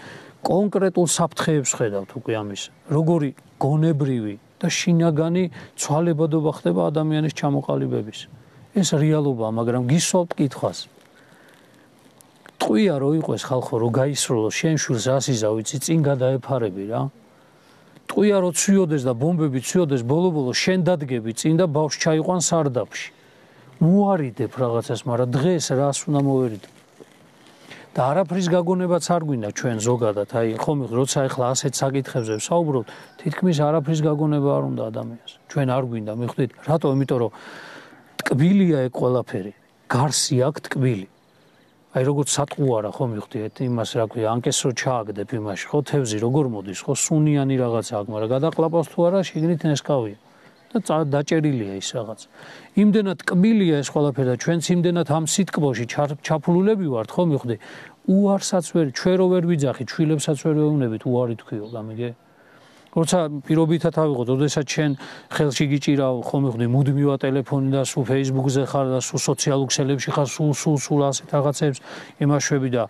კონკრეტულ საფრთხეებს ხედავთ უკვე ამის. როგორი გონებრივი და შინაგანი ცვალებადობა ხდება ადამიანის ჩამოყალიბების. ეს რეალობაა, მაგრამ გისვავთ კითხვას. ტყვია რო იყოს ხალხო, რო გაისროლო შენ შვილს რას იზა ვიცი, წინ გადაეფარები რა. ტყვია რო ცვიოდეს და ბომბები ცვიოდეს, ბოლო-ბოლო შენ დადგები წინ და ბავშვს ჩაიყვან სარდაფში. უარიდებ რაღაცას, მაგრამ დღეს რას უნდა მოვერიდო? და არაფრის გაგონებაც არ გვინდა ჩვენ ზოგადად, აი ხომ როცა ახლა ასეთ საკითხებზე ვსაუბრობთ, თითქმის არაფრის გაგონება არ უნდა ადამიანს. ჩვენ არ გვინდა, მიხვდით? რატო? იმიტომ რომ ტკბილია ეგ ყველაფერი. გარსი აქვს ტკბილი. აი როგორც სატყუარა ხო მივხვდით იმას რა ქვია, ანკეს რო ჩააგდებ იმაში, ხო თევზი როგორ მოდის, ხო სუნიანი რაღაცა აქვს, მაგრამ გადაყლაპავს თუ არა, შიგნით ნესკავია. და დაჭერილია ის რაღაც. იმდენად ტკბილია ეს ყველაფერი და ჩვენც იმდენად ამ სიტკბოში ჩაფლულები ვართ, ხო მივხვდი? უარსაც ვერ, ჩვენ რო ვერ ვიძახით, შვილებსაც ვერ ვეუბნებით, უარი თქვიო, გამიგე? როცა პირობითად ავიღოთ, ოდესაც შენ ხელში გიჭირავ, ხო მივხვდი, მუდმივად ტელეფონი და სულ Facebook-ზე ხარ და სულ სოციალურ ქსელებში ხარ, სულ სულ სულ ასეთ რაღაცებს იმაშვები და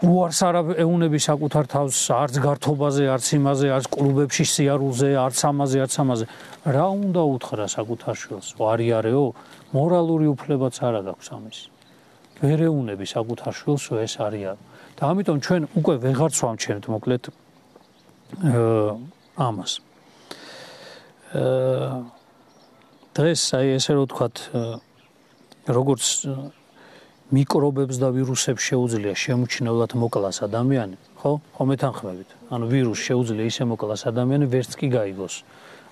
უარს არ ეუნები საკუთარ თავს, არც გართობაზე, არც იმაზე, არც კლუბებში სიარულზე, არც ამაზე, არც ამაზე. რა უნდა უთხრა საკუთარ შვილს? ვარიარეო, მორალური უფლებაც არ აქვს ამის. ვერ ეუნები საკუთარ შვილს, ეს არის. და ამიტომ ჩვენ უკვე ვეღარც ვამჩნევთ მოკლედ ამას. დღეს აი ესე რო ვთქვათ, როგორც მიკრობებს და ვირუსებს შეუძლია შემოჩნევლად მოკლას ადამიანი, ხო? ხო მეთანხმებით. ანუ ვირუსს შეუძლია ისე მოკლას ადამიანი, ვერც კი გაიგოს.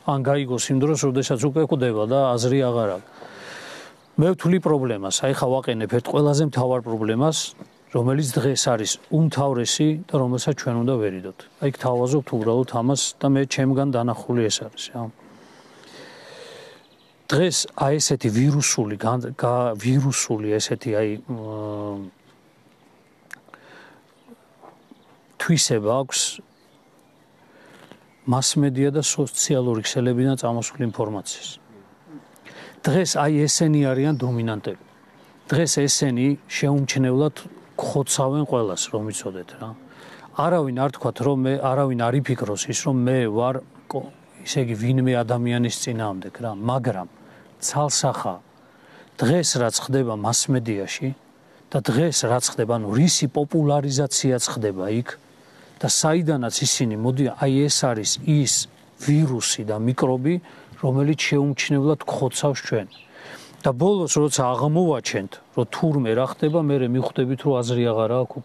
ან გაიგოს იმ დროს, როდესაც უკვე ხვდება და აზრი აღარ აქვს. მე ვთვლი პრობლემას, აი ხა ვაყენებ ერთ ყველაზე მთავარ პრობლემას, რომელიც დღეს არის უმთავრესი და რომელსაც ჩვენ უნდა ვერიდოთ. აი გთავაზობთ უბრალოდ ამას და მე ჩემგან დანახული ეს არის, რა. დღეს აი ესეთი ვირუსული ვირუსული ესეთი აი თვისება აქვს მასმედია და სოციალური ქსელებიდან წამოსული ინფორმაციის. დღეს აი ესენი არიან დომინანტები. დღეს ესენი შეუმჩნევლად ხოცავენ ყველას, რომ იცოდეთ რა. არავინ არ თქვათ, რომ მე არავინ არ იფიქროს ის, რომ მე ვარ ისე იგი ვინმე ადამიანის წინააღმდეგ რა, მაგრამ ცალსახა დღეს რაც ხდება მასმედიაში და დღეს რაც ხდება, ანუ რისი პოპულარიზაციაც ხდება იქ და საიდანაც ისინი მოდიან, აი ეს არის ის ვირუსი და მიკრობი, რომელიც შეუმჩნევლად გხოცავს ჩვენ. და ბოლოს როცა აღმოვაჩენთ, რომ თურმე რა ხდება, მე მიხვდებით, რომ აზრი აღარ აქვს,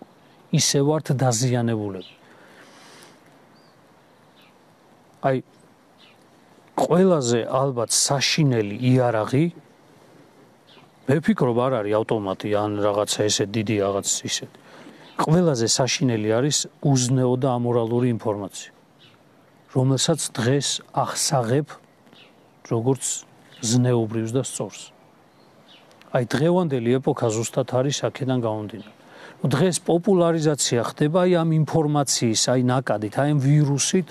ისე ვართ დაზიანებულები. აი ყველაზე ალბათ საშინელი იარაღი მე ვფიქრობ არ არის ავტომატი ან რაღაცა ესე დიდი რაღაც ისე. ყველაზე საშინელი არის უზნეო და ამორალური ინფორმაცია, რომელსაც დღეს ახსაღებ როგორც ზნეობრივს და სწორს. აი დღევანდელი ეპოქა ზუსტად არის აქედან გამომდინარე. დღეს პოპულარიზაცია ხდება აი ამ ინფორმაციის, აი ნაკადით, აი ამ ვირუსით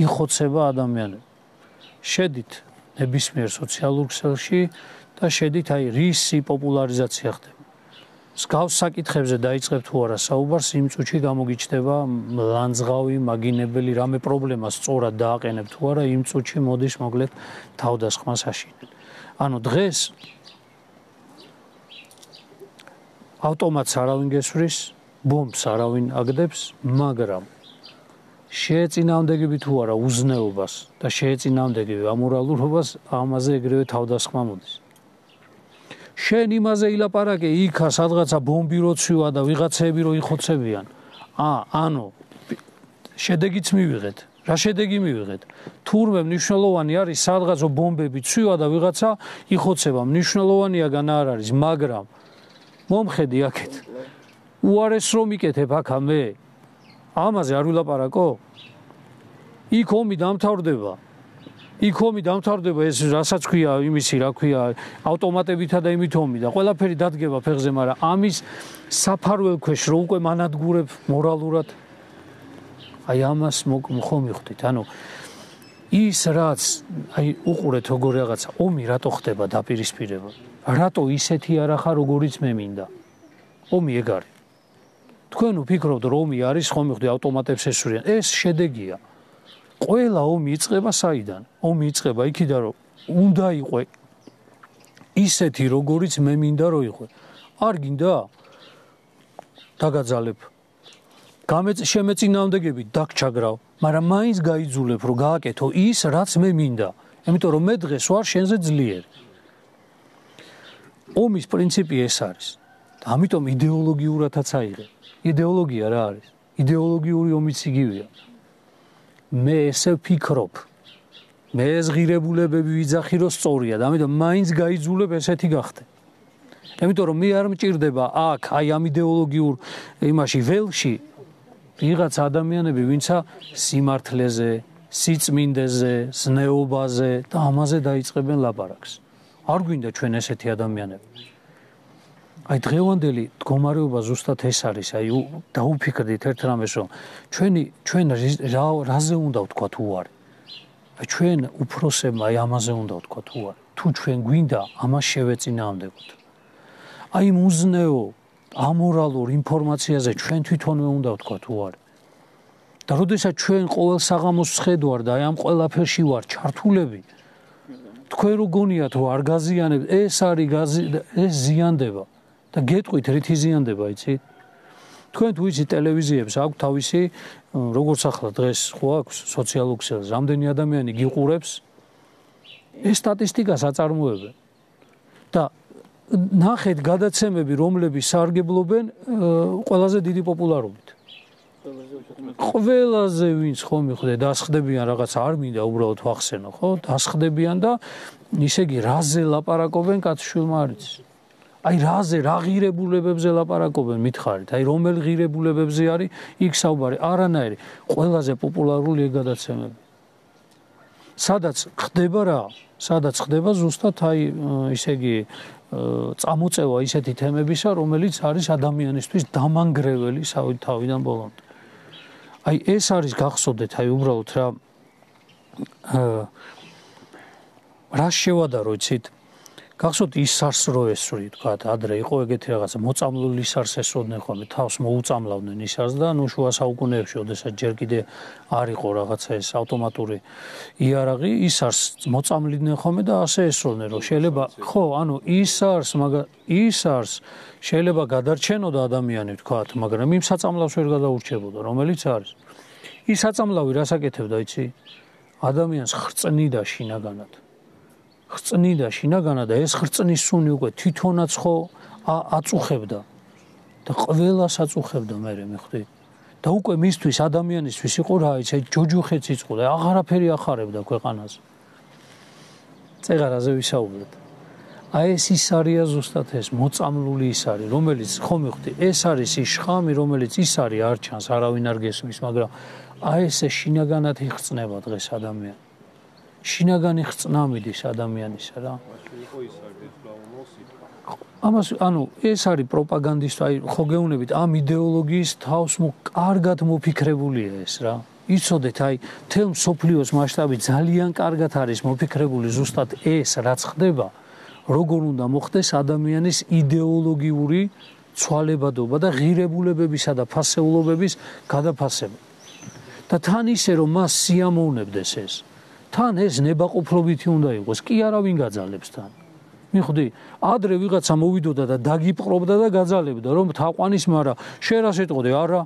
იხოცება ადამიანები. შედით ნებისმიერ სოციალურ ქსელში და შედით აი რისი პოპულარიზაცია ხდება. სკავს საკითხებზე დაიწყებ თუ არა საუბარს, იმ წუთში გამოგიჩნდება ლანძღავი, მაგინებელი, რამე პრობლემას სწორად დააყენებ თუ არა, იმ წუთში მოდის მოკლედ თავდასხმას აშინებ. ანუ დღეს ავტომატს არავინ გესვრის, ბომბს არავინ აგდებს, მაგრამ შეეწინააღმდეგები თუ არა უზნეობას და შეეწინააღმდეგები ამორალურობას, ამაზე ეგრევე თავდასხმა მოდის. შენ იმაზე ილაპარაკე, იქა სადღაცა ბომბი როცვივა და ვიღაცები რო იხოცებიან. ა, ანუ შედეგიც მივიღეთ. რა შედეგი მივიღეთ? თურმე მნიშვნელოვანი არის სადღაც ბომბები ცვივა და ვიღაცა იხოცება. მნიშვნელოვანიაგან არ არის, მაგრამ მომხედი აქეთ. უარეს რომ იკეთებ აქა მე. ამაზე არ ვილაპარაკო? იქ ომი დამთავრდება. იქ ომი დამთავრდება ეს რასაც ქვია იმისი რა ქვია ავტომატებითა და იმით ომი და ყველაფერი დადგება ფეხზე, მაგრამ ამის საფარველ ქვეშ რო უკვე მანადგურებ მორალურად აი ამას ხომ მივხვდით. ანუ ის რაც აი უყურეთ როგორ რაღაცა ომი რატო ხდება დაპირისპირება? რატო ისეთი არ ახარ როგორიც მე მინდა? ომი ეგ არის. თქვენ ვფიქრობთ რომ ომი არის ხომ მივხვდი ავტომატებს ესვრიან. ეს შედეგია. ყველა ომი იწყება საიდან? ომი იწყება იქიდან რომ უნდა იყო ისეთი როგორიც მე მინდა რომ იყო. არ გინდა? დაგაძალებ. გამეწ შემეწინააღმდეგები დაგჩაგრავ, მაგრამ მაინც გაიძულებ რომ გააკეთო ის რაც მე მინდა. იმიტომ რომ მე დღეს ვარ შენზე ძლიერი. ომის პრინციპი ეს არის. ამიტომ იდეოლოგიურადაც აიღე. იდეოლოგია რა არის? იდეოლოგიური ომიც იგივეა. მე ესე ვფიქრობ. მე ეს ღირებულებები ვიძახი რომ სწორია და ამიტომ მაინც გაიძულებ ესეთი გახდე. იმიტომ რომ მე არ მჭირდება აქ აი ამ იდეოლოგიურ იმაში ველში ვიღაც ადამიანები ვინცა სიმართლეზე, სიწმინდეზე, ზნეობაზე და ამაზე დაიწყებენ ლაპარაკს. არ გვინდა ჩვენ ესეთი ადამიანები. აი დღევანდელი მდგომარეობა ზუსტად ეს არის, აი დაუფიქრდით ერთ რამეს რომ ჩვენი ჩვენ რაზე უნდა ვთქვათ უარი. აი ჩვენ უფროსებმა აი ამაზე უნდა ვთქვათ უარი. თუ ჩვენ გვინდა ამას შევეწინააღმდეგოთ. აი მუზნეო ამორალურ ინფორმაციაზე ჩვენ თვითონვე უნდა ვთქვათ უარი. და როდესაც ჩვენ ყოველ საღამოს ვხედავთ და აი ამ ყველაფერში ვარ ჩართულები, თქვენ რო გონიათ რომ არ გაზიანებ, ეს არის გაზი ეს ზიანდება. და გეტყვით რითი ზიანდება, იცი? თქვენ თუ იცით ტელევიზიებს აქვს თავისი, როგორც ახლა დღეს ხო აქვს სოციალურ ქსელს, რამდენი ადამიანი გიყურებს, ეს სტატისტიკას აწარმოებენ. და ნახეთ გადაცემები, რომლებიც სარგებლობენ ყველაზე დიდი პოპულარობით. ყველაზე ვინც ხომ მიხვდე დასხდებიან რაღაც არ მინდა უბრალოდ ვახსენო, ხო? დასხდებიან და ისე იგი რაზე ლაპარაკობენ კაცშვილმა არ იცის. აი რაზე რა ღირებულებებზე ლაპარაკობენ მითხარით, აი რომელ ღირებულებებზე არის იქ საუბარი, არანაირი, ყველაზე პოპულარული ეგ გადაცემები. სადაც ხდება რა? სადაც ხდება ზუსტად აი ისე იგი წამოწევა ისეთი თემებისა, რომელიც არის ადამიანისთვის დამანგრეველი თავიდან ბოლომდე. აი ეს არის გახსოვდეთ, აი უბრალოდ რა რა შევადარო იცით? გახსოვთ ის სარს რო ესვრი, თქვა, ადრე იყო ეგეთი რაღაცა, მოწამლული სარს ესროდნენ ხოლმე, თავს მოუწამლავდნენ ის სარს და ნუ შუა საუკუნეებში, ოდესაც ჯერ კიდე არ იყო რაღაცა ეს ავტომატური იარაღი, ის სარს მოწამლიდნენ ხოლმე და ასე ესროდნენ, რომ შეიძლება, ხო, ანუ ის სარს, მაგრამ ის სარს შეიძლება გადარჩენოდა ადამიანი, თქვა, მაგრამ იმ საწამლავს ვერ გადაურჩებოდა, რომელიც არის. ის საწამლავი რას აკეთებდა, იცი? ადამიანს ხრწნიდა შინაგანად. ხრწნიდა შინაგანად და ეს ხრწნის სუნი უკვე თვითონაც ხო აწუხებდა და ყველას აწუხებდა მე მეხვდი და უკვე მისთვის ადამიანისთვის იყო რა იცი ჯოჯოხეც იწყო და აღარაფერი ახარებდა ქვეყანაზე. წეღარაზე ვისაუბრეთ. აი ეს ის არია ზუსტად ეს მოწამლული ის არის, რომელიც ხო მეხვდი ეს არის ის შხამი, რომელიც ის არის არ ჩანს, არავინ არ გესმის, მაგრამ აი ესე შინაგანად იხწნება დღეს ადამიანი. შინაგანი ხწნა მიდის ადამიანისა რა. ამას ანუ ეს არის პროპაგანდისტი, აი ხო გეუბნებით ამ იდეოლოგიის თავს კარგად მოფიქრებულია ეს რა. იცოდეთ აი თელ მსოფლიოს მასშტაბით ძალიან კარგად არის მოფიქრებული ზუსტად ეს რაც ხდება, როგორ უნდა მოხდეს ადამიანის იდეოლოგიური ცვალებადობა და ღირებულებებისა და ფასეულობების გადაფასება. და თან ისე რომ მას სიამოვნებდეს ეს. თან ეს ნებაყოფლობითი უნდა იყოს, კი არა ვინ გაძალებს თან. მიხვდი, ადრე ვიღაცა მოვიდოდა და დაგიპყრობდა და გაძალებდა, რომ თაყვანის მარა შენ რა შეტყოდი, არა?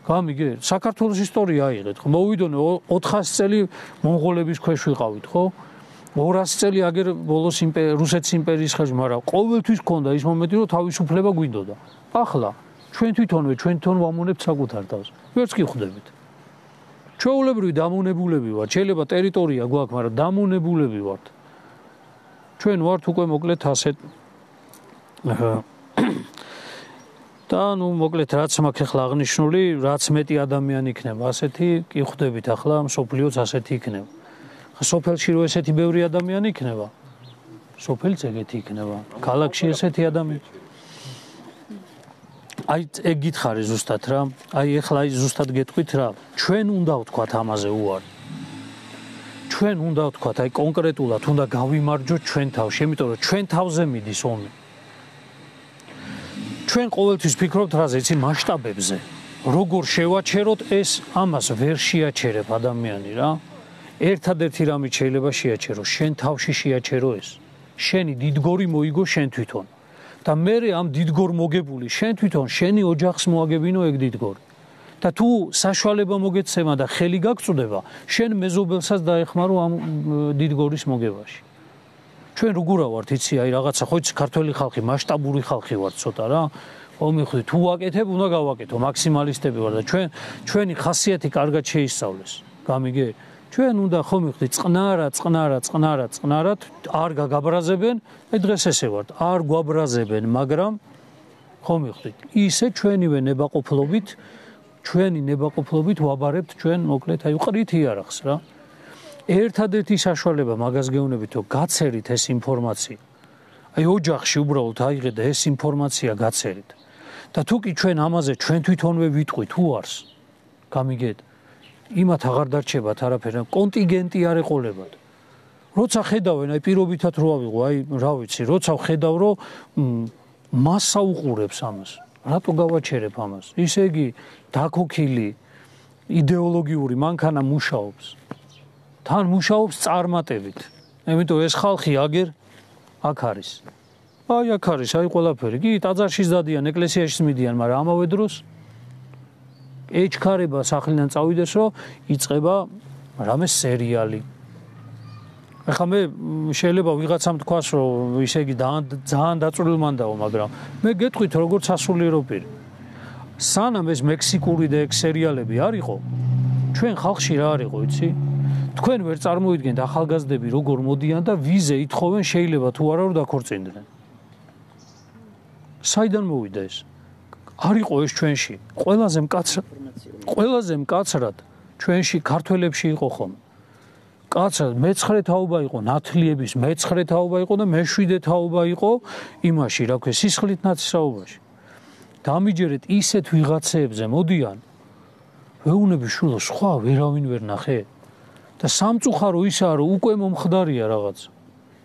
გამიგე, საქართველოს ისტორია აიღეთ, ხო? მოვიდონე ოთხასი წელი მონღოლების ქვეშ ვიყავით, ხო? ორასი წელი აგერ ბოლოს რუსეთის იმპერიის ხელში, მაგრამ ყოველთვის ჰქონდა ის მომენტი, რომ თავისუფლება გვინდოდა. ახლა ჩვენ თვითონვე ჩვენ თვითონ ვამონებთ საკუთარ თავს. ვერც კი ხვდებით. ჩვეულებრივი დამონებულები ვართ, შეიძლება ტერიტორია გვაქვს, მაგრამ დამონებულები ვართ. ჩვენ ვართ უკვე მოკლედ ასეთ და ნუ მოკლედ რაც მაქვს ახლა აღნიშნული, რაც მეტი ადამიანი იქნება, ასეთი კი ხვდებით ახლა მსოფლიოც ასეთი იქნება. სოფელში რო ესეთი ბევრი ადამიანი იქნება, სოფელიც ეგეთი იქნება, ქალაქში ესეთი ადამიანი. აი ეგ გითხარი ზუსტად რა, აი ეხლა აი ზუსტად გეტყვით რა, ჩვენ უნდა ვთქვათ ამაზე უარი. ჩვენ უნდა ვთქვათ, აი კონკრეტულად უნდა გავიმარჯვოთ ჩვენ თავში, იმიტომ რომ ჩვენ თავზე მიდის ომი. ჩვენ ყოველთვის ფიქრობთ რაზე, იცი მასშტაბებზე. როგორ შევაჩეროთ ეს, ამას ვერ შეაჩერებ ადამიანი რა. ერთადერთი რამით შეიძლება შეაჩერო, შენ თავში შეაჩერო ეს. შენი დიდგორი მოიგო შენ თვითონ. და მე ამ დიდგორ მოგებული შენ თვითონ შენი ოჯახს მოაგებინო ეგ დიდგორი. და თუ საშუალება მოგეცემა და ხელი გაგწუდება, შენ მეზობელსაც დაეხმარო ამ დიდგორის მოგებაში. ჩვენ როგორა ვართ, იცი, აი რაღაცა ხო იცი ქართველი ხალხი, მასშტაბური ხალხი ვართ ცოტა რა. ხო მიხვდი, თუ ვაკეთებ, უნდა გავაკეთო, მაქსიმალისტები ვარ და ჩვენ ჩვენი ხასიათი კარგად შეისწავლეს. გამიგე? ჩვენ უნდა ხო მიხვდი, წყნარა, წყნარა, წყნარა, წყნარად არ გაგაბრაზებენ, აი დღეს ესე ვართ, არ გვაბრაზებენ, მაგრამ ხო მიხვდით, ისე ჩვენივე ნებაყოფლობით ჩვენი ნებაყოფლობით ვაბარებთ ჩვენ მოკლედ აი ყრით იარაღს რა. ერთადერთი საშუალება მაგას გეუბნებით, რომ გაცერით ეს ინფორმაცია. აი ოჯახში უბრალოდ აიღეთ და ეს ინფორმაცია გაცერით. და თუ კი ჩვენ ამაზე ჩვენ თვითონვე ვიტყვით უარს, გამიგეთ, იმათ აღარ დარჩებათ არაფერი, კონტინგენტი არ ეყოლებათ. როცა ხედავენ, აი პირობითად რო ავიღო, აი რა ვიცი, როცა ხედავ, რომ მასა უყურებს ამას. რატო გავაჩერებ ამას? ისე იგი დაქოქილი იდეოლოგიური მანქანა მუშაობს. თან მუშაობს წარმატებით. ამიტომ ეს ხალხი აგერ აქ არის. აი აქ არის, აი ყველაფერი. კი, ტაძარში დადიან, ეკლესიაში მიდიან, მაგრამ ამავე დროს ეჩქარება სახლიდან წავიდეს, რომ იწყება რამე სერიალი. ახლა მე შეიძლება ვიღაცამ თქვას, რომ ისე იგი ძალიან დაწვრილმანდაო, მაგრამ მე გეტყვით როგორც სასულიერო პირი. სანამ ეს მექსიკური და ეგ სერიალები არ იყო, ჩვენ ხალხში რა არ იყო, იცი? თქვენ ვერ წარმოიდგენთ ახალგაზრდები როგორ მოდიან და ვიზე ითხოვენ, შეიძლება თუ არა რომ დაქორწინდნენ. საიდან მოვიდა ეს? არ იყო ეს ჩვენში. ყველაზე მკაცრად, ყველაზე მკაცრად ჩვენში ქართველებში იყო ხომ. კაცად მეცხრე თაობა იყო ნათლიების, მეცხრე თაობა იყო და მეშვიდე თაობა იყო იმაში, რა ქვია, სისხლით ნათესაობაში. დამიჯერეთ ისეთ ვიღაცეებზე მოდიან, ვეუბნები შულო, სხვა ვერავინ ვერ ნახე. და სამწუხარო ისაა, რომ უკვე მომხდარია რაღაც.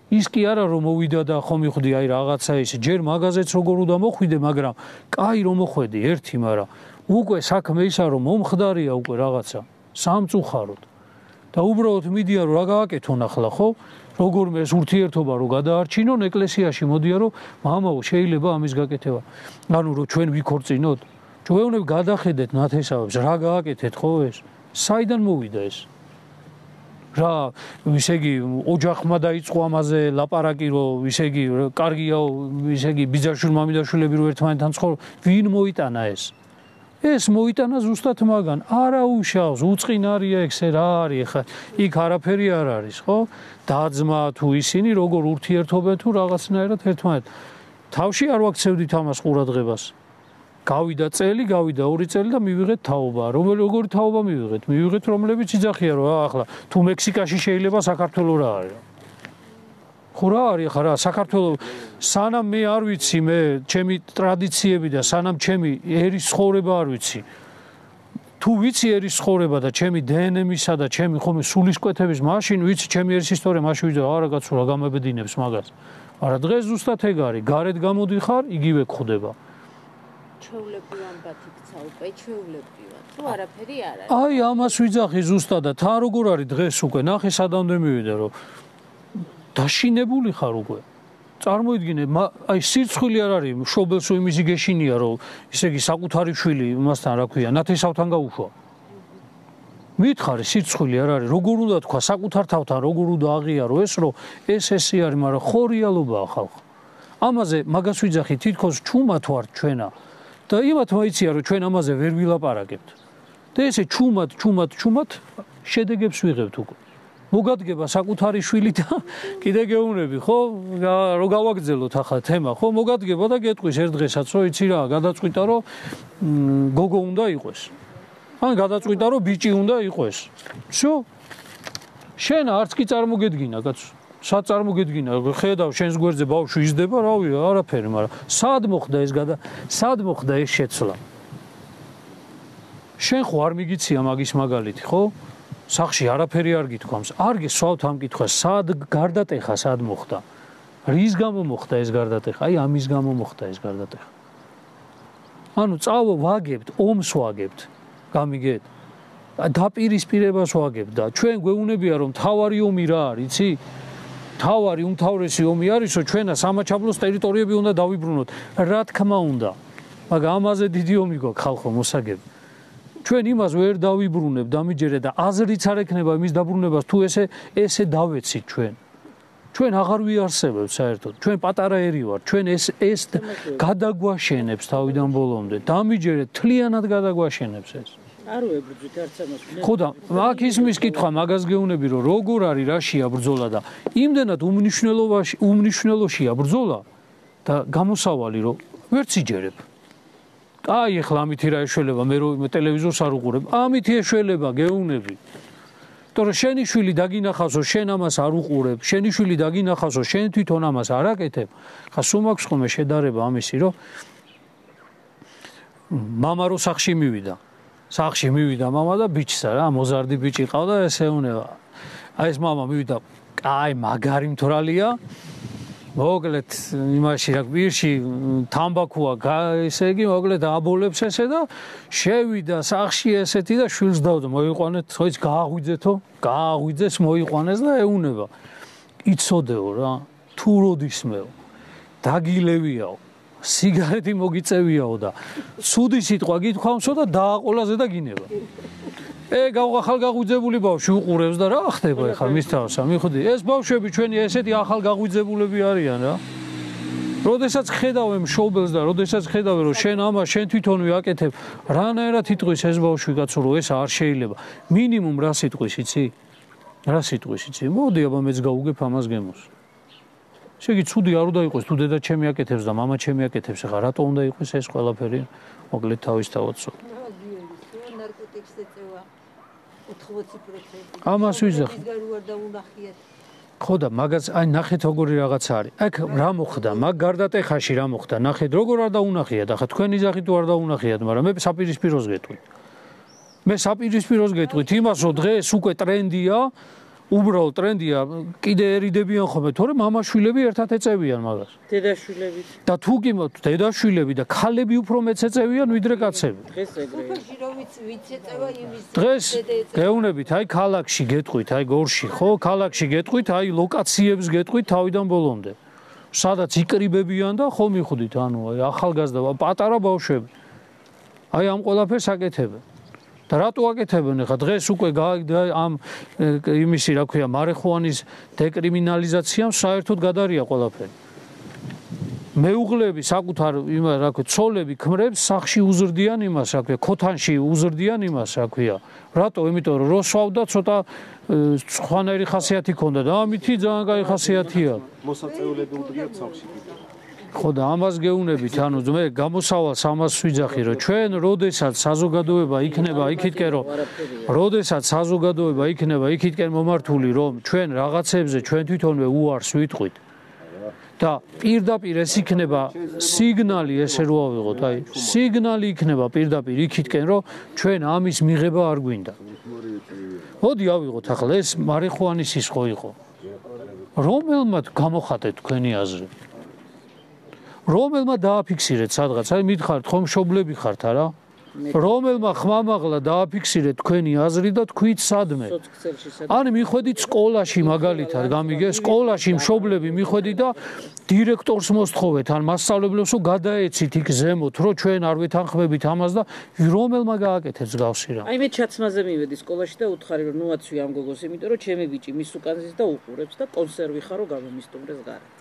ის კი არა რომ მოვიდა და ხომ მივხვდი აი რაღაცა ისე, ჯერ მაღაზიაც როგორ უნდა მოხვიდე, მაგრამ კაი რომ მოხვედი ერთი, მაგრამ უკვე საქმე ისაა, რომ მომხდარია უკვე რაღაცა, სამწუხაროდ. და უბრალოდ მიდიან რომ რა გააკეთონ ახლა, ხო? როგორმე ეს ურთიერთობა რო გადაარჩინონ ეკლესიაში, მოდიან რომ მამაო შეიძლება ამის გაკეთება. ანუ რომ ჩვენ ვიქორწინოთ, ჩვენები გადახედეთ ნათესავებს, რა გააკეთეთ ხო ეს? საიდან მოვიდა ეს? რა, ისე იგი ოჯახმა დაიწყო ამაზე ლაპარაკი, რომ ისე იგი კარგიაო, ისე იგი ბიძაშვილ მამიდაშვილები რო ერთმანეთთან ცხოვრობ, ვინ მოიტანა ეს? ეს მოიტანა ზუსტად მაგან, არა უშავს, უწყინარია ეგ რა არის ხა, იქ არაფერი არ არის, ხო? დაძმა თუ ისინი როგორ ურთიერთობენ თუ რაღაცნაირად ერთმანეთ. თავში არ ვაქცევდით ამას ყურადღებას. გავიდა წელი, გავიდა ორი წელი და მივიღეთ თაობა. რომელი როგორი თაობა მივიღეთ? მივიღეთ რომლებიც იძახია რომ ახლა თუ მექსიკაში შეიძლება საქართველოს რა არის. ხო რა არის ხა რა საქართველოს სანამ მე არ ვიცი მე ჩემი ტრადიციები და სანამ ჩემი ერის ცხოვრება არ ვიცი. თუ ვიცი ერის ცხოვრება და ჩემი დე ენ ემისა და ჩემი ხომე სულისკვეთების მაშინ ვიცი ჩემი ერის ისტორია მაშინ ვიძა არა კაცო რა გამებედინებს მაგას. არა დღეს ზუსტად ეგ არის, გარეთ გამოდიხარ, იგივე გხვდება. ჩვეულები ამბათ იქცა უკვე ჩვეულებრივად თუ არაფერი არ არის აი ამას ვიძახი ზუსტად და თან როგორ არის დღეს უკვე ნახე სადამდე მივიდა რომ დაშინებული ხარ უკვე წარმოიდგინე აი სირცხვილი არ არის მშობელს იმისი გეშინია რომ ისე იგი საკუთარი შვილი მასთან რა ქვია ნათესავთან გაუშვა მითხარი სირცხვილი არ არის როგორ უნდა თქვა საკუთარ თავთან როგორ უნდა აღიარო ეს რომ ეს ესე არის მაგრამ ხო რეალობაა ხალხო ამაზე მაგას ვიძახი თითქოს ჩუმად ვარ ჩვენა და იმათ მოიცია რომ ჩვენ ამაზე ვერ ვილაპარაკებთ და ესე ჩუმად ჩუმად ჩუმად შედეგებს ვიღებთ უკვე მოგადგება საკუთარი შვილი და კიდე გეუნები ხო რო გავაგრძელოთ ახლა თემა ხო მოგადგება და გეტყვის ერთ დღესაც რომ იცი რა გადაწყვიტა რომ გოგო უნდა იყოს ან გადაწყვიტა რომ ბიჭი უნდა იყოს всё შენ არც კი წარმოგედგინა კაცო სად წარმოგედგინა ხედავ შენს გვერდზე ბავშვი იზრდება რავი არაფერი მაგრამ სად მოხდა ეს გადა სად მოხდა ეს შეცვლა შენ ხო არ მიგიცია მაგის მაგალითი ხო სახში არაფერი არ გითქვამს არ გესვავთ ამ კითხვას სად გარდატეხა სად მოხდა რის გამო მოხდა ეს გარდატეხა აი ამის გამო მოხდა ეს გარდატეხა ანუ წავ ვაგებთ ომს ვაგებთ გამიგეთ დაპირისპირებას ვაგებთ და ჩვენ გვეუბნებია რომ თავარი ომი რა არის იცი თავარი უმთავრესი ომი არის რომ ჩვენა სამაჩაბლოს ტერიტორიები უნდა დავიბრუნოთ რა თქმა უნდა მაგრამ ამაზე დიდი ომი გვაქვს ხალხო მოსაგები ჩვენ იმას ვერ დავიბრუნებთ დამიჯერე და აზრიც არ ექნება იმის დაბრუნებას თუ ესე ესე დავეცით ჩვენ ჩვენ აღარ ვიარსებებთ საერთოდ ჩვენ პატარა ერი ვარ ჩვენ ეს ეს გადაგვაშენებს თავიდან ბოლომდე დამიჯერე თლიანად გადაგვაშენებს ეს არ ვებრძვით არც ამას ხო და აქ ისმის კითხვა მაგას გეუნები რომ როგორ არის რაშია ბრძოლა და იმდენად უმნიშვნელოვანში უმნიშვნელოშია ბრძოლა და გამოსავალი რომ ვერც იჯერებ აი ახლა ამითი რა ეშველება მე რომ ტელევიზორს არ უყურებ ამითი ეშველება გეუნები თორე შენი შვილი დაგინახავსო შენ ამას არ უყურებ შენი შვილი დაგინახავსო შენ თვითონ ამას არ აკეთებ ხა სულ მაქვს ხოლმე შედარება ამისი რომ მამა რო სახში მივიდა სახში მივიდა მამა და ბიჭსა რა მოზარდი ბიჭი ყავდა ესე უნება აი ეს მამა მივიდა აი მაგარი მთვრალია მოკლედ იმაში რა პირში თამბაქოა ესე იგი მოკლედ აბოლებს ესე და შევიდა სახში ესეთი და შვილს დავდა მოიყვანეთ თოიც გააღვიძეთო გააღვიძეს მოიყვანეს და ეუნება იცოდეო რა თუ როდისმეო დაგილევიაო სიგარეტი მოგიწევიაო და ცუდი სიტყვა გითქვამსო და დააყოლაზე და გინება ე ახალგაღვიძებული ბავშვი უყურებს და რა ხდება ახლა მის თავსა მიხვდი ეს ბავშვები ჩვენი ესეთი ახალგაღვიძებულები არიან რა როდესაც ხედავენ მშობელს და როდესაც ხედავენ რომ შენ ამას შენ თვითონვე აკეთებ რანაირად იტყვის ეს ბავშვი კაცო რომ ეს არ შეიძლება მინიმუმ რა სიტყვის იცი რა სიტყვის იცი მოდი აბა მეც გავუგებ ამას გემოს შეგი ცუდი არ უნდა იყოს თუ დედა ჩემი აკეთებს და მამა ჩემი აკეთებს ახლა რატო უნდა იყოს ეს ყველაფერი მოკლედ თავისთავად სულ ნარკოტიკს ეწევა ოთხმოცი პროცენტი ამას ვიზახი ხო და მაგაც აი ნახეთ როგორი რაღაცა არის აქ რა მოხდა მაგ გარდატეხაში რა მოხდა ნახეთ როგორ არ დაუნახიათ ახლა თქვენი ზახით თუ არ დაუნახიათ მაგრამ მე საპირისპიროს გეტყვით მე საპირისპიროს გეტყვით იმას რომ დღეს უკვე ტრენდია უბრალოდ ტრენდია კიდეერიდებიან ხოლმე თორე მამაშვილები ერთად ეწევიან მაგას დედაშვილებით და თუ კი დედაშვილები და ქალები უფრო მეც ეწევიან ვიდრე კაცები დღეს ეგრეა დღეს გეუნებით აი ქალაქში გეტყვით აი გორში ხო ქალაქში გეტყვით აი ლოკაციებს გეტყვით თავიდან ბოლომდე სადაც იკრიბებიან და ხო მიხვდით ანუ აი ახალგაზრდა პატარა ბავშვები აი ამ ყველაფერს აკეთებენ და რატო აკეთებენ ახლა დღეს უკვე ამ იმისი რა ქვია მარიხუანის დეკრიმინალიზაციამ საერთოდ გადარია ყველაფერი მეუღლები საკუთარ იმა რა ქვია ცოლები ქმრებს სახში უზრდიან იმას რა ქვია ქოთანში უზრდიან იმას რა ქვია რატო იმიტომ რომ როსვავდა ცოტა სხვანაირი ხასიათი ჰქონდა და ამითი ძალიან კაი ხასიათია მოსაწეულები უდრიათ სახში ხო და ამას გეუნებით ანუ მე გამოსავალს ამას ვიძახი რომ ჩვენ როდესაც საზოგადოება იქნება იქითკენ რომ როდესაც საზოგადოება იქნება იქითკენ მომართული რომ ჩვენ რაღაცებზე ჩვენ თვითონვე უარს ვიტყვით და პირდაპირ ეს იქნება სიგნალი ესე რო ავიღოთ აი სიგნალი იქნება პირდაპირ იქითკენ რომ ჩვენ ამის მიღება არ გვინდა მოდი ავიღოთ ახლა ეს მარიხუანის სისხლო იყო რომელმაც გამოხატეთ თქვენი აზრი რომელმა დააფიქსირეთ სადღაც, აი მითხართ ხომ მშობლები ხართ არა? რომელმა ხმამაღლა დააფიქსირეთ თქვენი აზრი და თქვით სადმე. ან მიხვედით სკოლაში მაგალითად, გამიგე, სკოლაში მშობლები მიხვედით და დირექტორს მოსთხოვეთ, ან მასწავლებლებს რომ გადაეცით იქ ზემოთ, რომ ჩვენ არ ვეთანხმებით ამას და რომელმა გააკეთეთ მსგავსი რამ. აი მე ჩაცმაზე მივედი სკოლაში და უთხარი რომ ნუ აცვი ამ გოგოს, იმიტომ რომ ჩემი ბიჭი მის უკან ზის და უყურებს და კონსერვი ხარო გამომისტუმრეს გარეთ.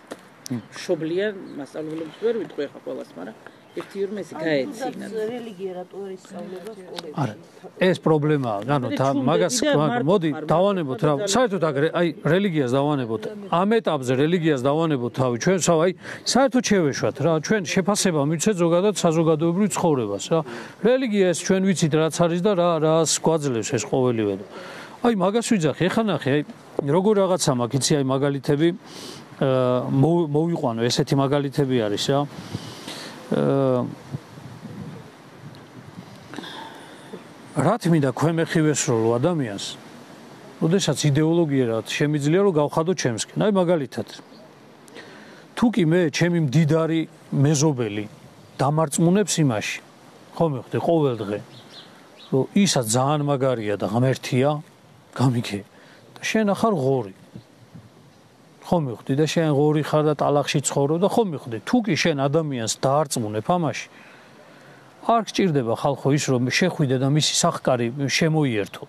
მშობლიან მასწავლებლებს ვერ ვიტყვი ხა ყველას, მაგრამ ერთი ორ მესი გაეცინა. რელიგია რატო არის სწავლება სკოლებში? არა, ეს პრობლემაა. ანუ მაგას მოდი დავანებოთ რა. საერთოდ აგრე, აი რელიგიას დავანებოთ. ამ ეტაპზე რელიგიას დავანებოთ თავი ჩვენ, სავ აი საერთოდ შევეშვათ რა. ჩვენ შეფასება მივცეთ ზოგადად საზოგადოებრივ ცხოვრებას რა. რელიგია ეს ჩვენ ვიცით რაც არის და რა რას გვაძლევს ეს ყოველივე. აი მაგას ვიძახი, ეხა ნახე, აი როგორ რაღაცა მაქვს, იცი აი მაგალითები მოვიყვანო, ესეთი მაგალითები არის რა. რა თქმა ქვემეხივესროლო ადამიანს, ოდესაც იდეოლოგია რა შემიძლია რომ გავხადო ჩემსკენ. აი მაგალითად თუ კი მე ჩემი მდიდარი მეზობელი დამარწმუნებს იმაში, ხო მივხვდი ყოველ დღე, რომ ისა ძალიან მაგარია და ღმერთია, გამიგე და შენ ახარ ღორი. ხო მივხვდი და შენ ღორი ხარ და ტალახში ცხოვრობ და ხო მივხვდი, თუ კი შენ ადამიანს დაარწმუნებ ამაში, არ გჭირდება ხალხო ის რომ შეხვიდე და მისი სახკარი შემოიერთო.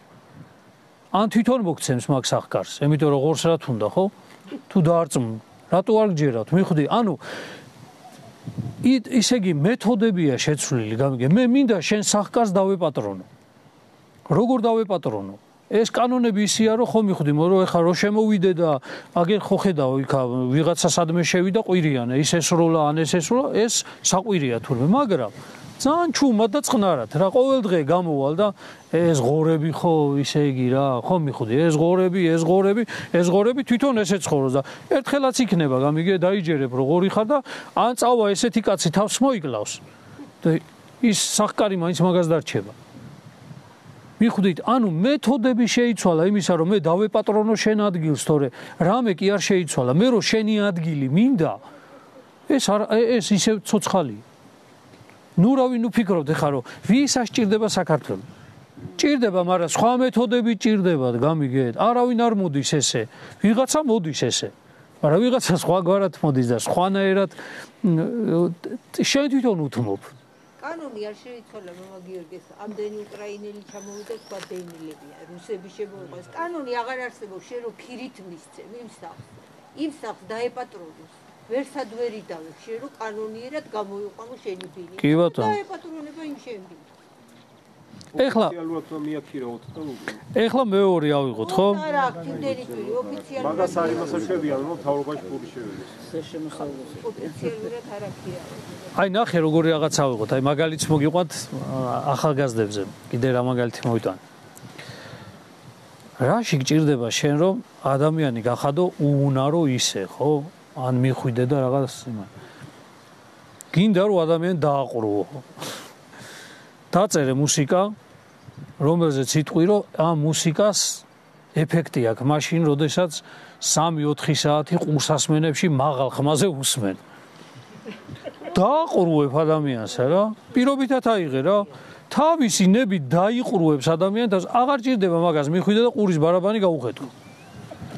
ან თვითონ მოგცემს მაგ სახკარს, იმიტომ რომ ღორს რა თუნდა, ხო? თუ დაარწმუნ, რატო არ გჯერავთ? მივხვდი, ანუ ისე იგი მეთოდებია შეცვლილი, გამიგე. მე მინდა შენ სახკარს დავეპატრონო. როგორ დავეპატრონო? ეს კანონები ისია რომ ხო მივხვდი, რომ ეხლა რო შემოვიდე და აგერ ხო ხედავ იქა ვიღაცა სადმე შევიდა ყვირიანა, ის ესროლა, ან ეს ესროლა, ეს საყვირია თურმე, მაგრამ ძალიან ჩუმად და წყნარად რა ყოველ დღე გამოვალ და ეს ღორები ხო ისე იგი რა, ხო მივხვდი, ეს ღორები, ეს ღორები, ეს ღორები თვითონ ესე ცხოვრობს და ერთხელაც იქნება, გამიგე, დაიჯერებ რომ ღორი ხარ და ან წავა ესეთი კაცი თავს მოიკლავს და ის სახკარი მაინც მაგას დარჩება. მიხვდით, ანუ მეთოდები შეიცვალა იმისა, რომ მე დავეპატრონო შენ ადგილს, თორე რამე კი არ შეიცვალა, მე რომ შენი ადგილი მინდა, ეს ეს ისე ცოცხალია. ნუ რავი, ნუ ფიქრობთ ეხლა რომ ვისაც ჭირდება საქართველო. ჭირდება, მაგრამ სხვა მეთოდები ჭირდებათ, გამიგეთ. არავინ არ მოდის ესე. ვიღაცა მოდის ესე. მაგრამ ვიღაცა სხვაგვარად მოდის და სხვანაირად შენ თვითონ უთმობ. კანონი არ შეიცვალა მამა გიორგის, ამდენი უკრაინელი ჩამოვიდა, სხვა დეინილებია, რუსები შემოიღეს. კანონი აღარ არსებობს, შენ რო ქირით მისცემ იმ სახლს. იმ სახლს დაეპატრონოს. ვერსად ვერ იდავებ, შენ რო კანონიერად გამოიყვანო შენი ბინი. კი ბატონო. დაეპატრონება იმ შენ ბინს. ეხლა ეხლა მეორე ავიღოთ, ხო? არა, იმდენი პირი ოფიციალურად. მაგას არ იმასაც შევიან, რომ თავრობაში პური შევიდეს. ოფიციალურად არ აქია. აი ნახე როგორი რაღაც ავიღოთ, აი მაგალითს მოგიყვანთ ახალგაზრდებზე, კიდე რა მაგალითი მოვიტან. რაში გჭირდება შენ რომ ადამიანი გახადო უუნარო ისე, ხო? ან მიხვიდე და რაღაც იმან. გინდა რომ ადამიანი დააყრუო. დაწერე მუსიკა, რომელზეც იტყვი რომ ამ მუსიკას ეფექტი აქვს მაშინ, როდესაც სამი ოთხი საათი ყურსასმენებში მაღალ ხმაზე უსმენ. დააყრუებ ადამიანს რა, პირობითად აიღე რა, თავისი ნებით დაიყრუებს ადამიანს, აღარ ჭირდება მაგას მიხვიდე და ყურის ბარაბანი გაუხეთქო.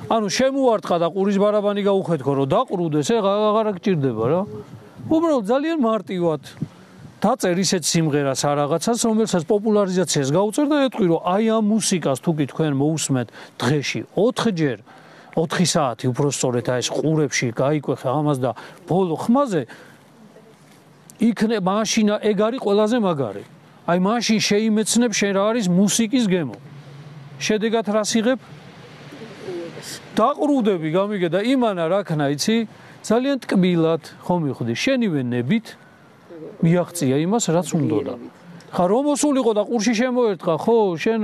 ანუ შემუარტყა და ყურის ბარაბანი გაუხეთქო, რომ დაყრუდეს, აღარ გჭირდება რა. უბრალოდ ძალიან მარტივად დაწერ ისეთ სიმღერას არ რაღაცას, რომელსაც პოპულარიზაციას გაუწერ და ეტყვი, რომ აი ამ მუსიკას თუ კი თქვენ მოусმენთ დღეში ოთხჯერ, ოთხი საათი უბრალოდ აი ეს ყურებში გაიკვეხე ამას და ბოლო ხმაზე იქნება მაშინ ეგ არის ყველაზე მაგარი. აი მაშინ შეიმეცნებ შენ რა არის მუსიკის გემო. შედეგად რას იღებ? დაყრუდები, გამიგე და იმანა რა ქნა, იცი? ძალიან ტკბილად, ხო მივხვდი, შენივე ნებით მიაღწია იმას, რაც უნდოდა. ხა რომ მოსულიყო და ყურში შემოერტყა, ხო, შენ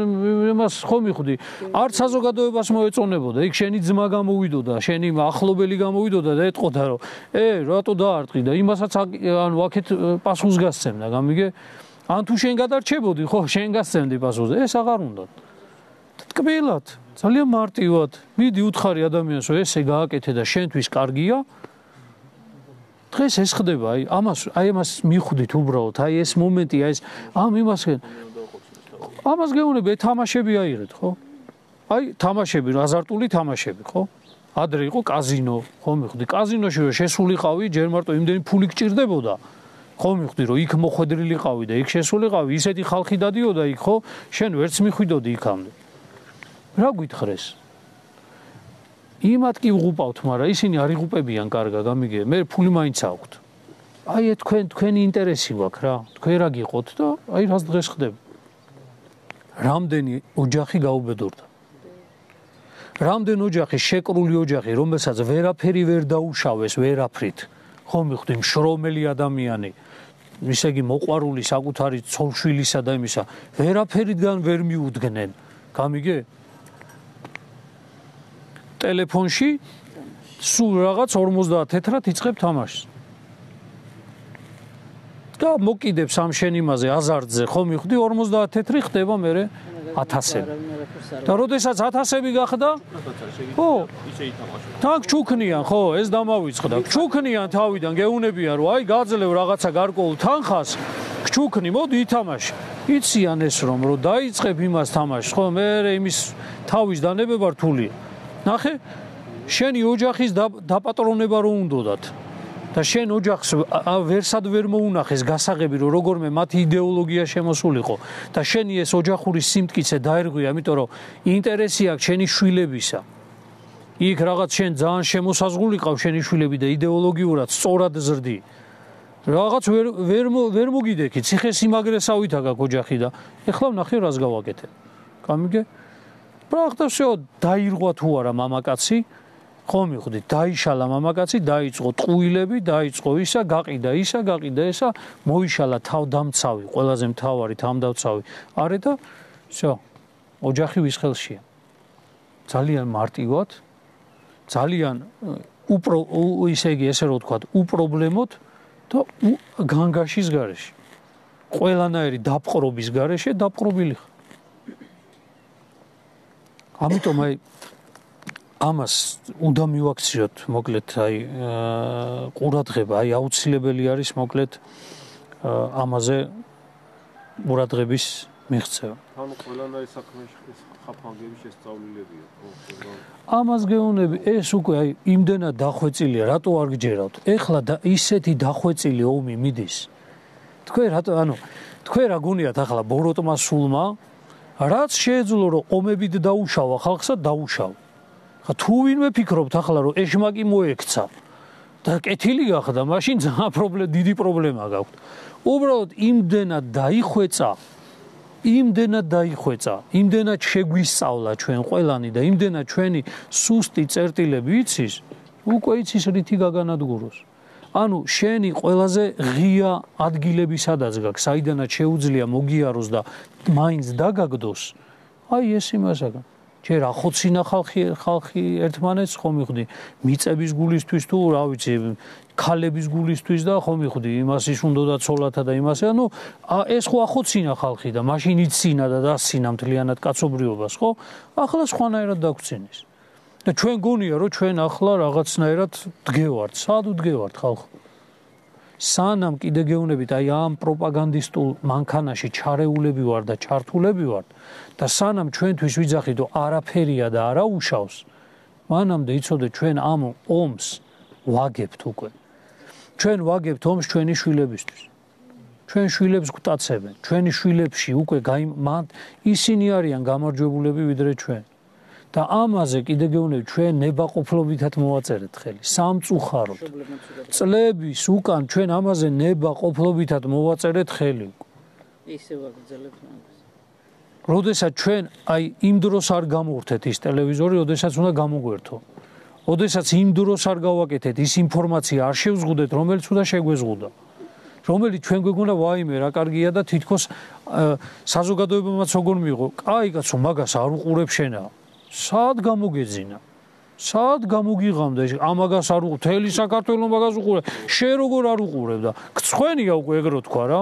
იმას ხო მივხვდი, არც საზოგადოებას მოეწონებოდა, იქ შენი ძმა გამოვიდოდა, შენი ახლობელი გამოვიდოდა და ეტყოდა, რომ ე, რატო დაარტყი და იმასაც ანუ აქეთ პასუხს გასცემდა, გამიგე? ან თუ შენ გადარჩებოდი, ხო, შენ გასცემდი პასუხს, ეს აღარ უნდა. ტკბილად, ძალიან მარტივად, მიდი უთხარი ადამიანს, რომ ესე გააკეთე და შენთვის კარგია. დღეს ეს ხდება, აი ამას აი ამას მიხვდით უბრალოდ, აი ეს მომენტი, აი ეს ამ იმას ამას გეუბნები, თამაშები აიღეთ, ხო? აი თამაშები, აზარტული თამაშები, ხო? ადრე იყო კაზინო, ხო მიხვდი, კაზინოში რომ შესულიყავი, ჯერ მარტო იმდენი ფული გჭირდებოდა. ხო მიხვდი რომ იქ მოხვედრილიყავი და იქ შესულიყავი, ისეთი ხალხი დადიოდა იქ, ხო? შენ ვერც მიხვიდოდი იქამდე. რა გვითხრეს? იმათ კი ვღუპავთ, მაგრამ ისინი არ იღუპებიან კარგად, გამიგე, მე ფული მაინც აქვთ. აი თქვენ თქვენი ინტერესი გვაქვს რა, თქვენ რა გიყოთ და აი რას დღეს ხდება. რამდენი ოჯახი გაუბედურდა. რამდენი ოჯახი შეკრული ოჯახი, რომელსაც ვერაფერი ვერ დაუშავეს ვერაფრით. ხო მიხვდი, მშრომელი ადამიანი, ისე იგი მოყვარული საკუთარი ცოლშვილისა და იმისა, ვერაფერიდან ვერ მიუდგნენ. გამიგე? ტელეფონში სულ რაღაც ორმოცდაათ თეთრად იწყებ თამაშს. და მოკიდებს ამ შენ იმაზე აზარტზე, ხო მიხვდი, ორმოცდაათ თეთრი ხდება მერე ათასები. და როდესაც ათასები გახდა, ხო, თან ჩუქნიან, ხო, ეს დამავიწყდა. ჩუქნიან თავიდან, გეუნებიან, რომ აი გაძლევ რაღაცა გარკვეულ თანხას, ჩუქნი, მოდი ითამაშე. იციან ეს რომ რომ დაიწყებ იმას თამაშს, ხო, მე იმის თავის დანებება რთულია. ნახე, შენი ოჯახის დაპატრონება რო უნდოდათ. და შენ ოჯახს ვერსად ვერ მოუნახეს გასაღები რომ როგორმე მათი იდეოლოგია შემოსულიყო და შენი ეს ოჯახური სიმტკიცე დაერღვია, იმიტომ რომ ინტერესი აქვს შენი შვილებისა. იქ რაღაც შენ ძალიან შემოსაზღვრულიყავ შენი შვილები და იდეოლოგიურად სწორად ზრდი. რაღაც ვერ ვერ ვერ მოგიდექი, ციხესიმაგრესავით აგაკ ოჯახი და ეხლა ვნახე რას გავაკეთე. გამიგე? პრაქტიკულად всё დაირღვა თუ არა მამაკაცი, ხო მიხვდი, დაიშალა მამაკაცი, დაიწყო ტყუილები, დაიწყო ისა, გაყიდა ისა, გაყიდა ესა, მოიშალა თავდამცავი, ყველაზე მთავარი თავდამცავი. არე და всё, ოჯახი ვის ხელშია. ძალიან მარტივად, ძალიან უპრო ისე იგი ესე რო ვთქვათ, უპრობლემოდ და განგაშის გარეშე. ყველანაირი დაპყრობის გარეშე დაპყრობილი ხარ. ამიტომ აი ამას უნდა მივაქციოთ, მოკლედ, აი ყურადღება, აი აუცილებელი არის, მოკლედ, ამაზე ყურადღების მიღწევა. ანუ ყველანაირი საქმეში ხაფანგები შესწავლილებია, ხო? ამას გეუბნები, ეს უკვე აი იმდენად დახვეწილია, რატო არ გჯერავთ? ეხლა ისეთი დახვეწილი ომი მიდის. თქვენ რატო, ანუ თქვენ რა გონიათ ახლა ბოროტმა სულმა, რაც შეეძლო რომ ომებით დაუშავა ხალხსა, დაუშავა. თუ ვინმე ფიქრობთ ახლა რომ ეშმაკი მოექცა და კეთილი გახდა, მაშინ ძალიან პრობლემა, დიდი პრობლემა გაქვთ. უბრალოდ იმდენად დაიხვეწა, იმდენად დაიხვეწა, იმდენად შეგვისწავლა ჩვენ ყველანი და იმდენად ჩვენი სუსტი წერტილები იცის, უკვე იცის რითი გაგანადგუროს. ანუ შენი ყველაზე ღია ადგილები სადაც გაქვს, საიდანაც შეუძლია მოგიაროს და მაინც დაგაგდოს, აი ეს იმასაგან. ჯერ ახოცინა ხალხი ხალხი ერთმანეთს, ხო მიხვდი, მიწების გულისთვის თუ რა ვიცი, ქალების გულისთვის და ხო მიხვდი, იმას ის უნდოდა ცოლათა და იმას, ანუ ეს ხო ახოცინა ხალხი და მაშინ იცინა და დასინა მთლიანად კაცობრიობას, ხო? ახლა სხვანაირად დაგვრცენის. და ჩვენ გონია რომ ჩვენ ახლა რაღაცნაირად დგევართ, სად ვდგევართ ხალხო? სანამ კიდე გეუბნებით აი ამ პროპაგანდისტულ მანქანაში ჩარეულები ვარ და ჩართულები ვარ და სანამ ჩვენთვის ვიძახით რომ არაფერია და არა უშავს, მანამდე იცოდეთ ჩვენ ამ ომს ვაგებთ უკვე. ჩვენ ვაგებთ ომს ჩვენი შვილებისთვის. ჩვენ შვილებს გვტაცებენ, ჩვენი შვილებში უკვე ისინი არიან გამარჯვებულები ვიდრე ჩვენ. და ამაზე კიდე გეუბნებით ჩვენ ნებაყოფლობითად მოვაწერეთ ხელი, სამწუხაროდ. წლების უკან ჩვენ ამაზე ნებაყოფლობითად მოვაწერეთ ხელი. ისე ვაგრძელებთ ამას. როდესაც ჩვენ აი იმ დროს არ გამოვრთეთ ის ტელევიზორი, როდესაც უნდა გამოგვერთო. როდესაც იმ დროს არ გავაკეთეთ ის ინფორმაცია არ შევზღუდეთ, რომელიც უნდა შეგვეზღუდა. რომელიც ჩვენ გვეგონა ვაიმე რა კარგია და თითქოს საზოგადოებამაც როგორ მიიღო. კაი კაცო, მაგას არ უყურებ შენა. სად გამოგეძინა? სად გამოგიღამდა ეს ამაგას არ უყურებ? თელი საქართველოს მაგას უყურებ. შენ როგორ არ უყურებ და გწხვენია უკვე ეგრო თქვა რა.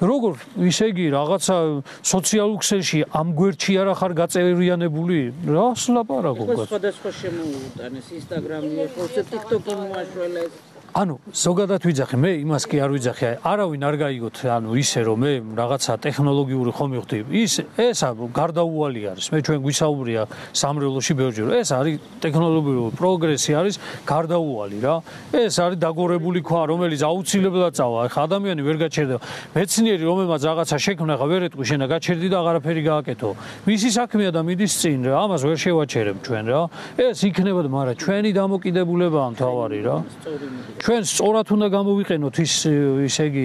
როგორ ისე იგი რაღაცა სოციალურ ქსელში ამ გვერდში არ ახარ გაწევრიანებული? რას ლაპარაკობ? სხვადასხვა შემოუტანეს, ინსტაგრამი, ხო, TikTok-ი მოაშველეს. ანუ ზოგადად ვიძახი მე იმას კი არ ვიძახი არავინ არ გაიგოთ ანუ ისე რომ მე რაღაცა ტექნოლოგიური ხომ მივხვდი ის ესა გარდაუვალი არის მე ჩვენ გვისაუბრია სამრევლოში ბევრჯერ ეს არის ტექნოლოგიური პროგრესი არის გარდაუვალი რა ეს არის დაგორებული ქვა რომელიც აუცილებლად წავა ხა ადამიანი ვერ გაჩერდება მეცნიერი რომელმაც რაღაცა შექმნა ხა ვერ ეტყვი შენა გაჩერდი და აღარაფერი გააკეთო მისი საქმეა და მიდის წინ რა ამას ვერ შევაჩერებ ჩვენ რა ეს იქნება მაგრამ ჩვენი დამოკიდებულებაა მთავარი რა ჩვენ სწორად უნდა გამოვიყენოთ ის ისე იგი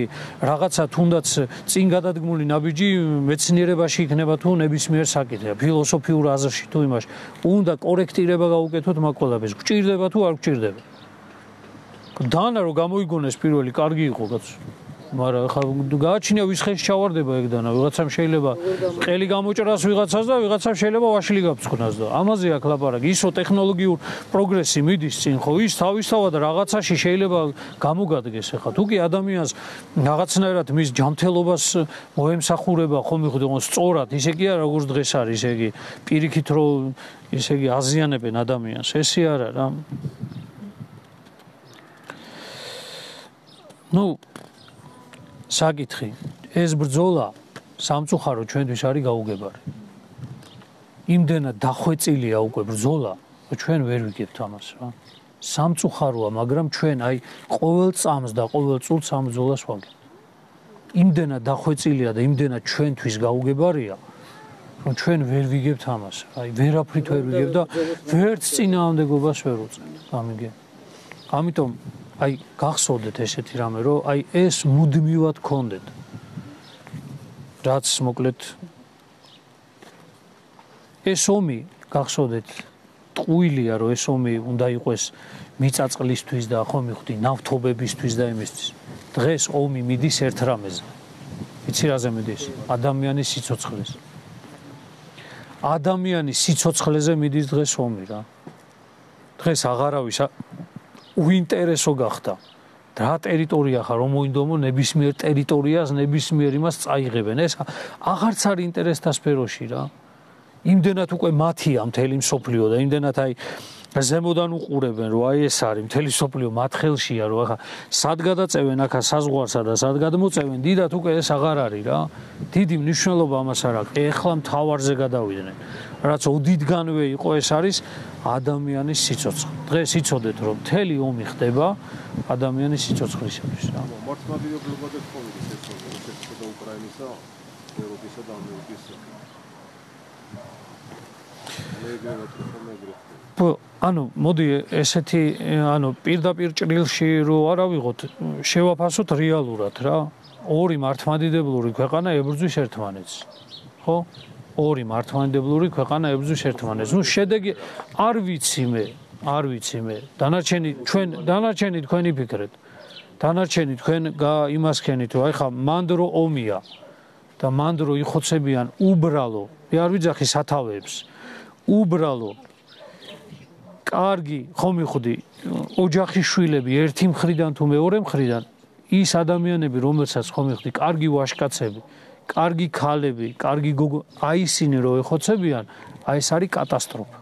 რაღაცა თუნდაც წინ გადადგმული ნაბიჯი მეცნიერებაში იქნება თუ ნებისმიერ საკითხზე ფილოსოფიურ აზრში თუ იმაში უნდა კორექტირება გაუკეთოთ მაგ ყველაფერს გვჭირდება თუ არ გვჭირდება დანა რომ გამოიგონეს პირველი კარგი იყო კაცო მაგრამ ხა გააჩნია ვისხეში ჩავარდება ეგ დანა ვიღაცამ შეიძლება ყელი გამოჭრას ვიღაცას და ვიღაცამ შეიძლება ვაშლი გაფრთხნას და ამაზე აქ ლაპარაკი ისო ტექნოლოგიურ პროგრესი მიდის წინ ხო ის თავისთავად რაღაცაში შეიძლება გამოგადგეს ხა თუ კი ადამიანს რაღაცნაირად მის ჯანმრთელობას მოემსახურება ხომ მიხდონ სწორად ისე კი არა როგორც დღეს არის ესე იგი პირიქით რომ ესე იგი აზიანებენ ადამიანს ესე არა რა ნუ საკითხი ეს ბრძოლა სამწუხარო ჩვენთვის არის გაუგებარი იმდენად დახვეწილია უკვე ბრძოლა ჩვენ ვერ ვიგებთ ამას რა სამწუხაროა მაგრამ ჩვენ აი ყოველ წამს და ყოველ წუთს ამ ბრძოლას ვაგებთ იმდენად დახვეწილია და იმდენად ჩვენთვის გაუგებარია რომ ჩვენ ვერ ვიგებთ ამას აი ვერაფრით ვერ ვიგებთ და ვერც წინააღმდეგობას ვერ უწევთ ამიგე ამიტომ აი გახსოვდეთ ესეთი რამე რომ აი ეს მუდმივად გქონდეთ რაც მოკლედ ეს ომი გახსოვდეთ ტყუილია რომ ეს ომი უნდა იყოს მიწაწყლისთვის და ხო მივხვდი ნავთობებისთვის და იმისთვის დღეს ომი მიდის ერთ რამეზე იცი რაზე მიდის ადამიანის სიცოცხლეს ადამიანის სიცოცხლეზე მიდის დღეს ომი რა დღეს აღარავის უინტერესო გახდა რა ტერიტორია ხარ რომ მოინდომო ნებისმიერ ტერიტორიას ნებისმიერ იმას წაიღებენ ეს აღარც არის ინტერესთა სფეროში რა იმდენად უკვე მათია მთელი მსოფლიო და იმდენად აი ზემოდან უყურებენ რომ აი ეს არის მთელი მსოფლიო მათ ხელშია რომ ახლა სად გადაწევენ ახლა საზღვარსა და სად გადმოწევენ დიდად უკვე ეს აღარ არის რა დიდი მნიშვნელობა ამას არ აქვს ეხლა მთავარზე გადავიდნენ რაც ოდითგანვე იყო ეს არის ადამიანის სიცოცხლე დღეს იცოდეთ რომ მთელი ომი ხდება ადამიანის სიცოცხლისათვის რა მართლმადიდებლობა და პოლიტიკა რუსეთისა და უკრაინისა ევროპისა და ამერიკის ანუ მოდი ესეთი ანუ პირდაპირ ჭრილში რო არ ავიღოთ შევაფასოთ რეალურად რა ორი მართლმადიდებლური ქვეყანა ებრძვის ერთმანეთს ხო ორი მართლმადიდებლური ქვეყანა ებრძვის ერთმანეთს ნუ შედეგი არ ვიცი მე არ ვიცი მე დანარჩენი ჩვენ დანარჩენი თქვენი ფიქრეთ დანარჩენი თქვენ იმას ქენით რომ აი ხა მანდრო ომია და მანდრო იხოცებიან უბრალო მე არ ვიძახი სათავეებს უბრალო კარგი ხომ მიხდი ოჯახის შვილები ერთი მხრიდან თუ მეორე მხრიდან ის ადამიანები რომელსაც ხომ მიხდი კარგი ვაჟკაცები კარგი ქალები კარგი გოგო აი ისინი რო ეხოცებიან აი ეს არის კატასტროფა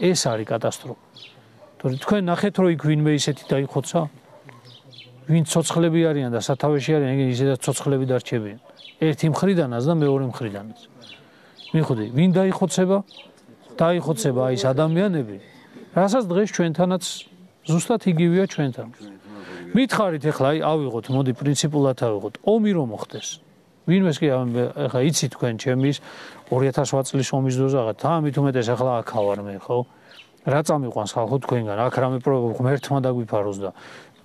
ეს არის კატასტროფა თორე თქვენ ნახეთ რომ იქ ვინმე ისეთი დაიხოცა ვინ ცოცხლები არიან და სათავეში არიან ეგ ისედაც ცოცხლები დარჩებიან ერთი მხრიდანაც და მეორე მხრიდანაც მიხდი ვინ დაიხოცება დაიხოცება აი ეს ადამიანები რასაც დღეს ჩვენთანაც ზუსტად იგივეა ჩვენთან მითხარით ახლა აი ავიღოთ მოდი პრინციპულად ავიღოთ ომი რომ მოხდეს ვინმეს კი ახლა იცი თქვენ ჩემის ორი ათას ოთხ წლის ომის დოზაღა თამით უმეტეს ახლა აქ ავარ მე ხო რა წამიყვანს ხალხო თქვენგან აქ რამე ღმერთმა დაგვიფაროს და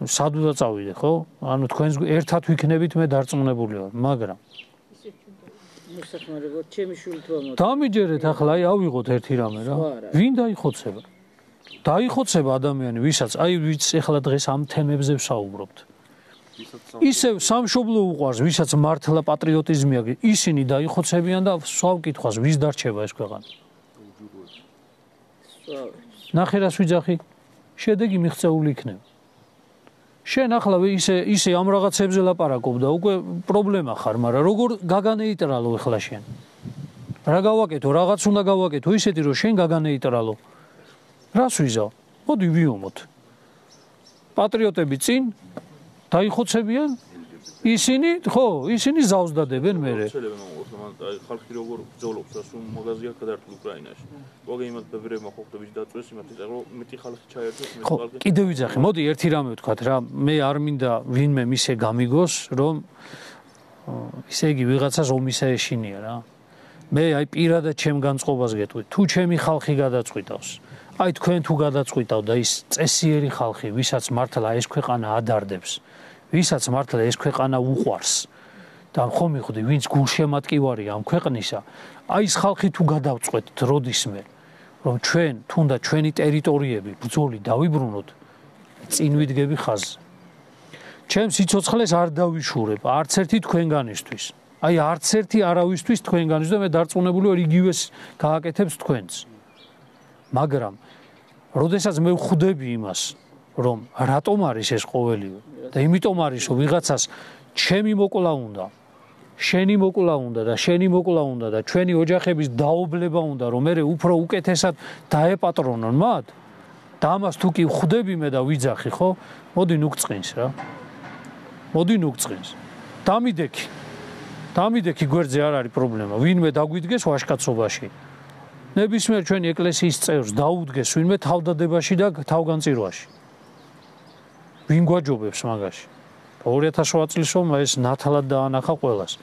სად უნდა წავიდე ხო ანუ თქვენს ერთად ვიქნებით მე დარწმუნებული ვარ მაგრამ მოსახმარებლად ჩემი შვილი თუ ამოწ დამიჯერეთ ახლა აი ავიღოთ ერთი რამე რა ვინ დაიხოცება დაიხოცება ადამიანი ვისაც აი ვიც ახლა დღეს ამ თემებზე ვსაუბრობთ ისევ სამშობლო უყვარს ვისაც მართლა პატრიოტიზმი აქვს ისინი დაიხოცებიან და სვავ კითხვას ვის დარჩება ეს ქვეყანა ნახე რას ვიძახი შედეგი მიღწეული იქნება შენ ახლა ისე ისე ამ რაღაცებზე ლაპარაკობ და უკვე პრობლემა ხარ მაგრამ როგორ გაგანეიტრალო ახლა შენ რა გავაკეთო რაღაც უნდა გავაკეთო ისეთი რომ შენ გაგანეიტრალო რას ვიზავ მოდი ვიომოთ პატრიოტები წინ დაიხოცებიან ისინი ხო ისინი ზავს დადებენ მე ხალხი როგორ ბრძოლობს და სულ მაღაზია გადართულ უკრაინაში მოგეიმად ბევრებმა ხოხტების დაწვეს იმათი რომ მეტი ხალხი ჩაერთოს მე ხალხი კიდევ ვიძახი მოდი ერთი რამე ვთქვათ რა მე არ მინდა ვინმე მისე გამიგოს რომ ისე იგი ვიღაცას ომისა ეშინია რა მე აი პირადად ჩემ განწყობას გეტყვი თუ ჩემი ხალხი გადაწყვიტავს აი თქვენ თუ გადაწყვიტავ და ის წესიერი ხალხი ვისაც მართლა ეს ქვეყანა ადარდებს ვისაც მართლა ეს ქვეყანა უყვარს და ხომ მიხვდი ვინც გულშემატკივარია ამ ქვეყნისა აი ეს ხალხი თუ გადავწყვეტთ როდისმე რომ ჩვენ თუნდაც ჩვენი ტერიტორიები ბრძოლი დავიბრუნოთ წინ ვიდგები ხაზზე ჩემ სიცოცხლეს არ დავიშურებ არც ერთი თქვენგანისთვის აი არც ერთი არავისთვის თქვენგანისთვის და მე დარწმუნებული ვარ იგივეს გააკეთებს თქვენც მაგრამ როდესაც მე ვხვდები იმას რომ რატომ არის ეს ყოველივე და იმიტომ არის რომ ვიღაცას ჩემი მოკლა უნდა შენი მოკლა უნდა და შენი მოკლა უნდა და ჩვენი ოჯახების დაობლება უნდა რომ მე უფრო უკეთესად დაეპატრონონ მათ და ამას თუ კი ვხვდები მე და ვიძახი ხო მოდი ნუგწყინს რა მოდი ნუგწყინს დამიდექი დამიდექი გვერდზე არ არის პრობლემა ვინმე დაგვიდგეს ვაშკაცობაში ნებისმიერ ჩვენი ეკლესიის წევრს დაუდგეს ვინმე თავდადებაში და თავგანწირვაში ვინ გვაჯობებს მაგაში ორი ათას ოთხ წლის რომ ეს ნათლად დაანახა ყველას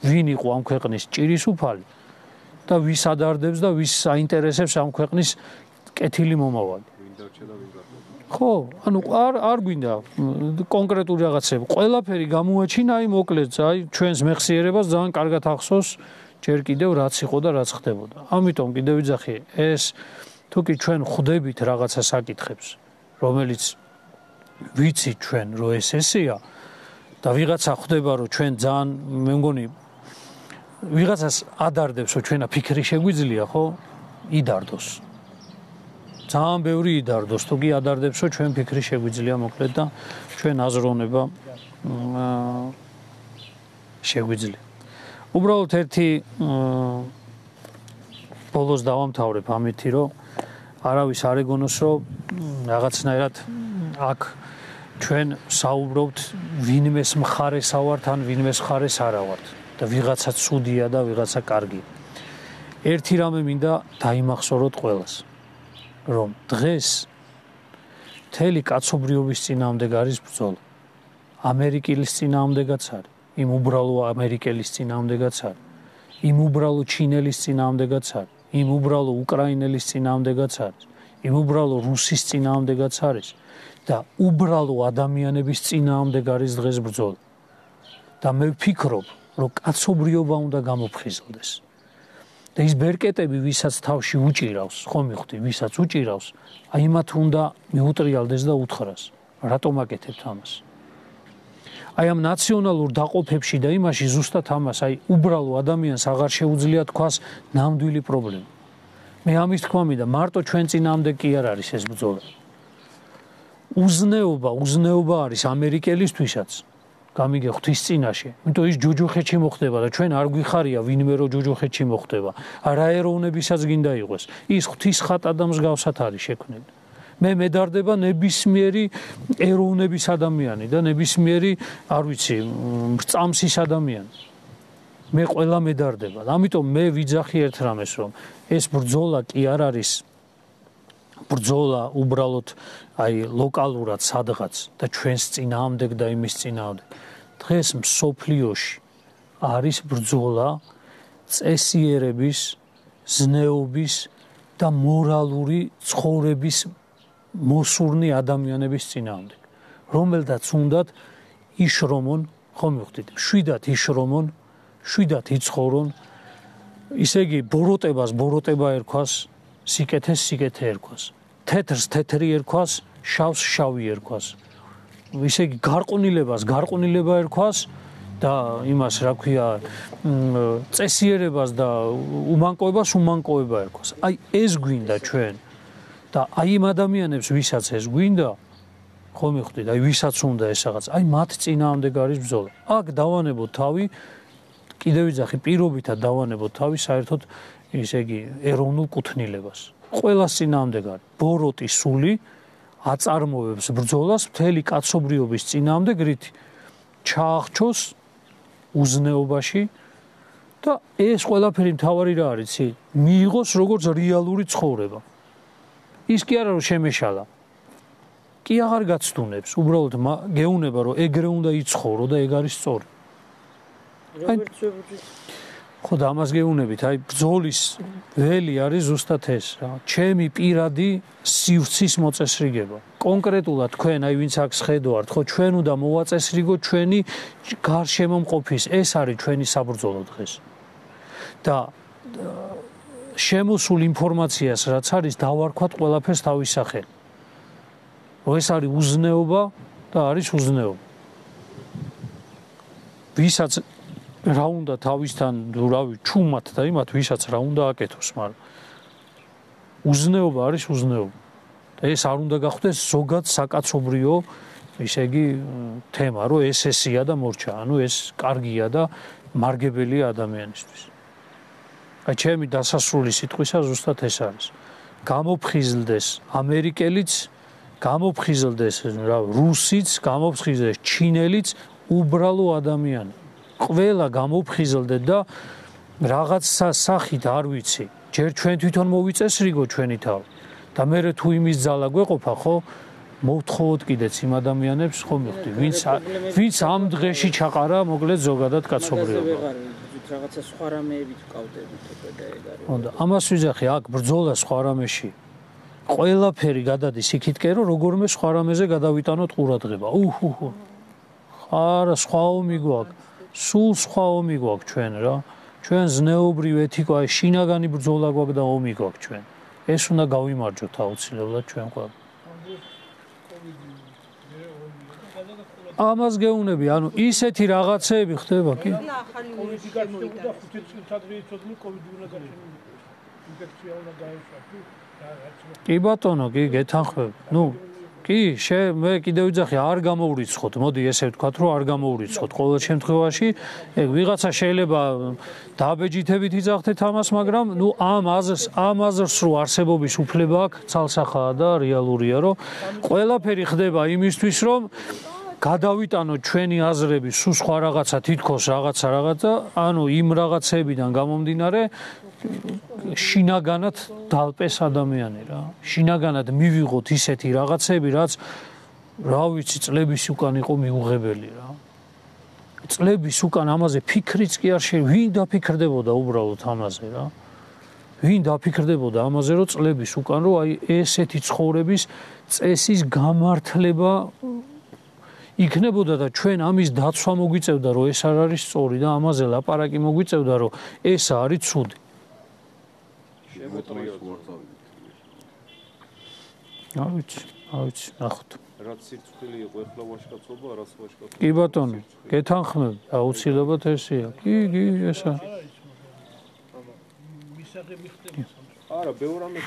ვინ იყო ამ ქვეყნის ჭირის უფალი და ვის ადარდებს და ვის აინტერესებს ამ ქვეყნის კეთილი მომავალი ხო ანუ არ არ გვინდა კონკრეტული რაღაცები ყველაფერი გამოაჩინა აი მოკლედ აი ჩვენს მეხსიერებას ძალიან კარგად ახსოვს ჯერ კიდევ რაც იყო და რაც ხდებოდა ამიტომ კიდევ ვიძახი ეს თუ კი ჩვენ ხვდებით რაღაცა საკითხებს რომელიც ვიცი ჩვენ რომ ეს ესეა და ვიღაცა ხვდება რომ ჩვენ ძალიან მე მგონი ვიღაცას ადარდებს რომ ჩვენა ფიქრი შეგვიძლია ხო იდარდოს ძალიან ბევრი იდარდოს თუ კი ადარდებს რომ ჩვენ ფიქრი შეგვიძლია მოკლედ და ჩვენ აზროვნება შეგვიძლია უბრალოდ ერთი ბოლოს დავამთავრებ ამითი რომ არავის არ ეგონოს რომ რაღაცნაირად აქ ჩვენ საუბრობთ ვინმეს მხარეს ავართ ან ვინმეს მხარეს არა ვართ და ვიღაცა ცუდია და ვიღაცა კარგია. ერთი რამე მინდა დაიმახსოვროთ ყველას, რომ დღეს მთელი კაცობრიობის წინააღმდეგ არის ბრძოლა. ამერიკელის წინააღმდეგაც არის, იმ უბრალო ამერიკელის წინააღმდეგაც არის, იმ უბრალო ჩინელის წინააღმდეგაც არის, იმ უბრალო უკრაინელის წინააღმდეგაც არის, იმ უბრალო რუსის წინააღმდეგაც არის და უბრალო ადამიანების წინააღმდეგ არის დღეს ბრძოლა. და მე ვფიქრობ, რომ კაცობრიობა უნდა გამოფხიზლდეს. და ის ბერკეტები, ვისაც თავში უჭირავს, ხომ მივხვდი, ვისაც უჭირავს, აი მათ უნდა მიუტრიალდეს და უთხრას, რატომ აკეთებთ ამას? აი ამ ნაციონალურ დაყოფებში და იმაში ზუსტად ამას, აი უბრალო ადამიანს აღარ შეუძლია თქვას ნამდვილი პრობლემა. მე ამის თქმა მინდა, მარტო ჩვენ წინააღმდეგ კი არ არის ეს ბრძოლა. უზნეობა, უზნეობა არის ამერიკელისთვისაც. გამიგე ღვთის წინაშე. იმიტომ ის ჯოჯოხეთში მოხდება და ჩვენ არ გვიხარია ვინმე რო ჯოჯოხეთში მოხდება. არა ეროვნებისაც გინდა იყოს. ის ღვთის ხატა და მსგავსად არის შექმნილი. მე მედარდება ნებისმიერი ეროვნების ადამიანი და ნებისმიერი, არ ვიცი, წამსის ადამიანი. მე ყველა მედარდება. ამიტომ მე ვიძახი ერთ რამეს, რომ ეს ბრძოლა კი არ არის ბრძოლა უბრალოდ აი ლოკალურად სადღაც და ჩვენს წინააღმდეგ და იმის წინააღმდეგ. დღეს მსოფლიოში არის ბრძოლა წესიერების, ზნეობის და მორალური ცხოვრების მოსურნი ადამიანების წინააღმდეგ, რომელთაც უნდათ იშრომონ, ხომ მივხვდით, შვიდათ იშრომონ, შვიდათ იცხოვრონ, ისე იგი ბოროტებას ბოროტება ერქვას, სიკეთეს სიკეთე ერქვას, თეთრს თეთრი ერქვას, შავს შავი ერქვას. ისე იგი გარყვნილებას გარყვნილება ერქვას და იმას რა ქვია, წესიერებას და უმანკოებას უმანკოება ერქვას. აი ეს გვინდა ჩვენ და აი იმ ადამიანებს, ვისაც ეს გვინდა, ხომ მივხვდით, აი ვისაც უნდა ეს რაღაც, აი მათ წინააღმდეგ არის ბრძოლა. აქ დავანებოთ თავი, კიდევ ვიძახი, პირობითად დავანებოთ თავი საერთოდ ისე იგი ეროვნულ კუთვნილებას. ყველას წინააღმდეგ არის ბოროტი სული, აწარმოებს ბრძოლას მთელი კაცობრიობის წინააღმდეგრით ჩაახჩოს უზნეობაში და ეს ყველაფერი მთავარი რა არის, იცი? მიიღოს როგორც რეალური ცხოვრება. ის კი არა რომ შემეშალა. კი აღარ გაცდუნებს, უბრალოდ გეუნება რომ ეგრე უნდა იცხოვრო და ეგ არის სწორი. როგორც ვებრძვით ხო და ამას გეუნებით, აი ბრძოლის ველი არის ზუსტად ეს რა. ჩემი პირადი სივრცის მოწესრიგება. კონკრეტულად თქვენ აი ვინც აქ შედავართ, ხო ჩვენ უნდა მოვაწესრიგოთ ჩვენი გარშემო მყოფის, ეს არის ჩვენი საბრძოლო დღეს. და შემოსულ ინფორმაციას რაც არის დავარქვათ ყველაფერს თავის სახელი. რომ ეს არის უზნეობა და არის უზნეობა. ვისაც რა უნდა თავისთან რავი ჩუმად და იმათ ვისაც რა უნდა აკეთოს, მაგრამ უზნეობა არის უზნეობა. და ეს არ უნდა გახდეს ზოგად საკაცობრიო, ისე იგი თემა, რომ ეს ესია და მორჩა, ანუ ეს კარგია და მარგებელია ადამიანისთვის. აი ჩემი დასასრული სიტყვისა ზუსტად ეს არის. გამოფხიზლდეს ამერიკელიც, გამოფხიზლდეს რა რუსიც, გამოფხიზლდეს ჩინელიც, უბრალო ადამიანი. ყველა გამოფხიზლდეთ და რაღაც სახით არ ვიცი. ჯერ ჩვენ თვითონ მოვიწესრიგო ჩვენი თავი. და მე თუ იმის ძალა გვეყოფა, ხო, მოვთხოვოთ კიდეც იმ ადამიანებს, ხო მივხვდი, ვინც ვინც ამ დღეში ჩაყარა, მოკლედ ზოგადად კაცობრიობა. რაღაცა სხვა რამეებით ვკავდებით უკვე და ეგ არის. ხონდა, ამას ვიძახი, აქ ბრძოლა სხვა რამეში. ყველაფერი გადადის იქითკენ, რომ როგორმე სხვა რამეზე გადავიტანოთ ყურადღება. უჰუჰუ. არა, სხვა ომი გვაქვს. სულ სხვა ომი გვაქვს ჩვენ რა. ჩვენ ზნეობრივ ეთიკა, აი შინაგანი ბრძოლა გვაქვს და ომი გვაქვს ჩვენ. ეს უნდა გავიმარჯვოთ აუცილებლად ჩვენ ყველა. ამას გეუნები, ანუ ისეთი რაღაცეები ხდება კი? ახალი ვირუსი შემოიტანა. ხუთი წელიწადში იცოდნენ კოვიდი უნდა გაჩერდეს. ინფექცია უნდა გაეშვა. კი ბატონო, კი გეთანხმები. ნუ კი, შე მე კიდევ ვიძახი, არ გამოვრიცხოთ. მოდი ესე ვთქვათ, რომ არ გამოვრიცხოთ. ყოველ შემთხვევაში, ეგ ვიღაცა შეიძლება დაბეჯითებით იძახდეთ ამას, მაგრამ ნუ ამ აზრს, ამ აზრს რო არსებობის უფლება აქვს, ცალსახაა და რეალურია, რომ ყველაფერი ხდება იმისთვის, რომ გადავიტანოთ ჩვენი აზრები სულ სხვა რაღაცა, თითქოს რაღაცა რაღაცა, ანუ იმ რაღაცებიდან გამომდინარე შინაგანად დალპეს ადამიანი რა. შინაგანად მივიღოთ ისეთი რაღაცები, რაც რა ვიცი, წლების უკან იყო მიუღებელი რა. წლების უკან ამაზე ფიქრიც კი არ შეიძლება, ვინ დაფიქრდებოდა უბრალოდ ამაზე რა. ვინ დაფიქრდებოდა ამაზე, რომ წლების უკან რომ აი ესეთი ცხოვრების წესის გამართლება იქნებოდა და ჩვენ ამის დაცვა მოგვიწევდა, რომ ეს არ არის სწორი და ამაზე ლაპარაკი მოგვიწევდა, რომ ეს არის ცუდი. არ ვიცი, არ ვიცი, ნახოთ. რაც სირცხვილი იყო, ეხლა ვაშკაცობა, რაც ვაშკაცობა. კი ბატონო, გეთანხმები, აუცილებლად ესეა. კი, კი, ესა. მისაღები ხდება. არა, ბევრ რამე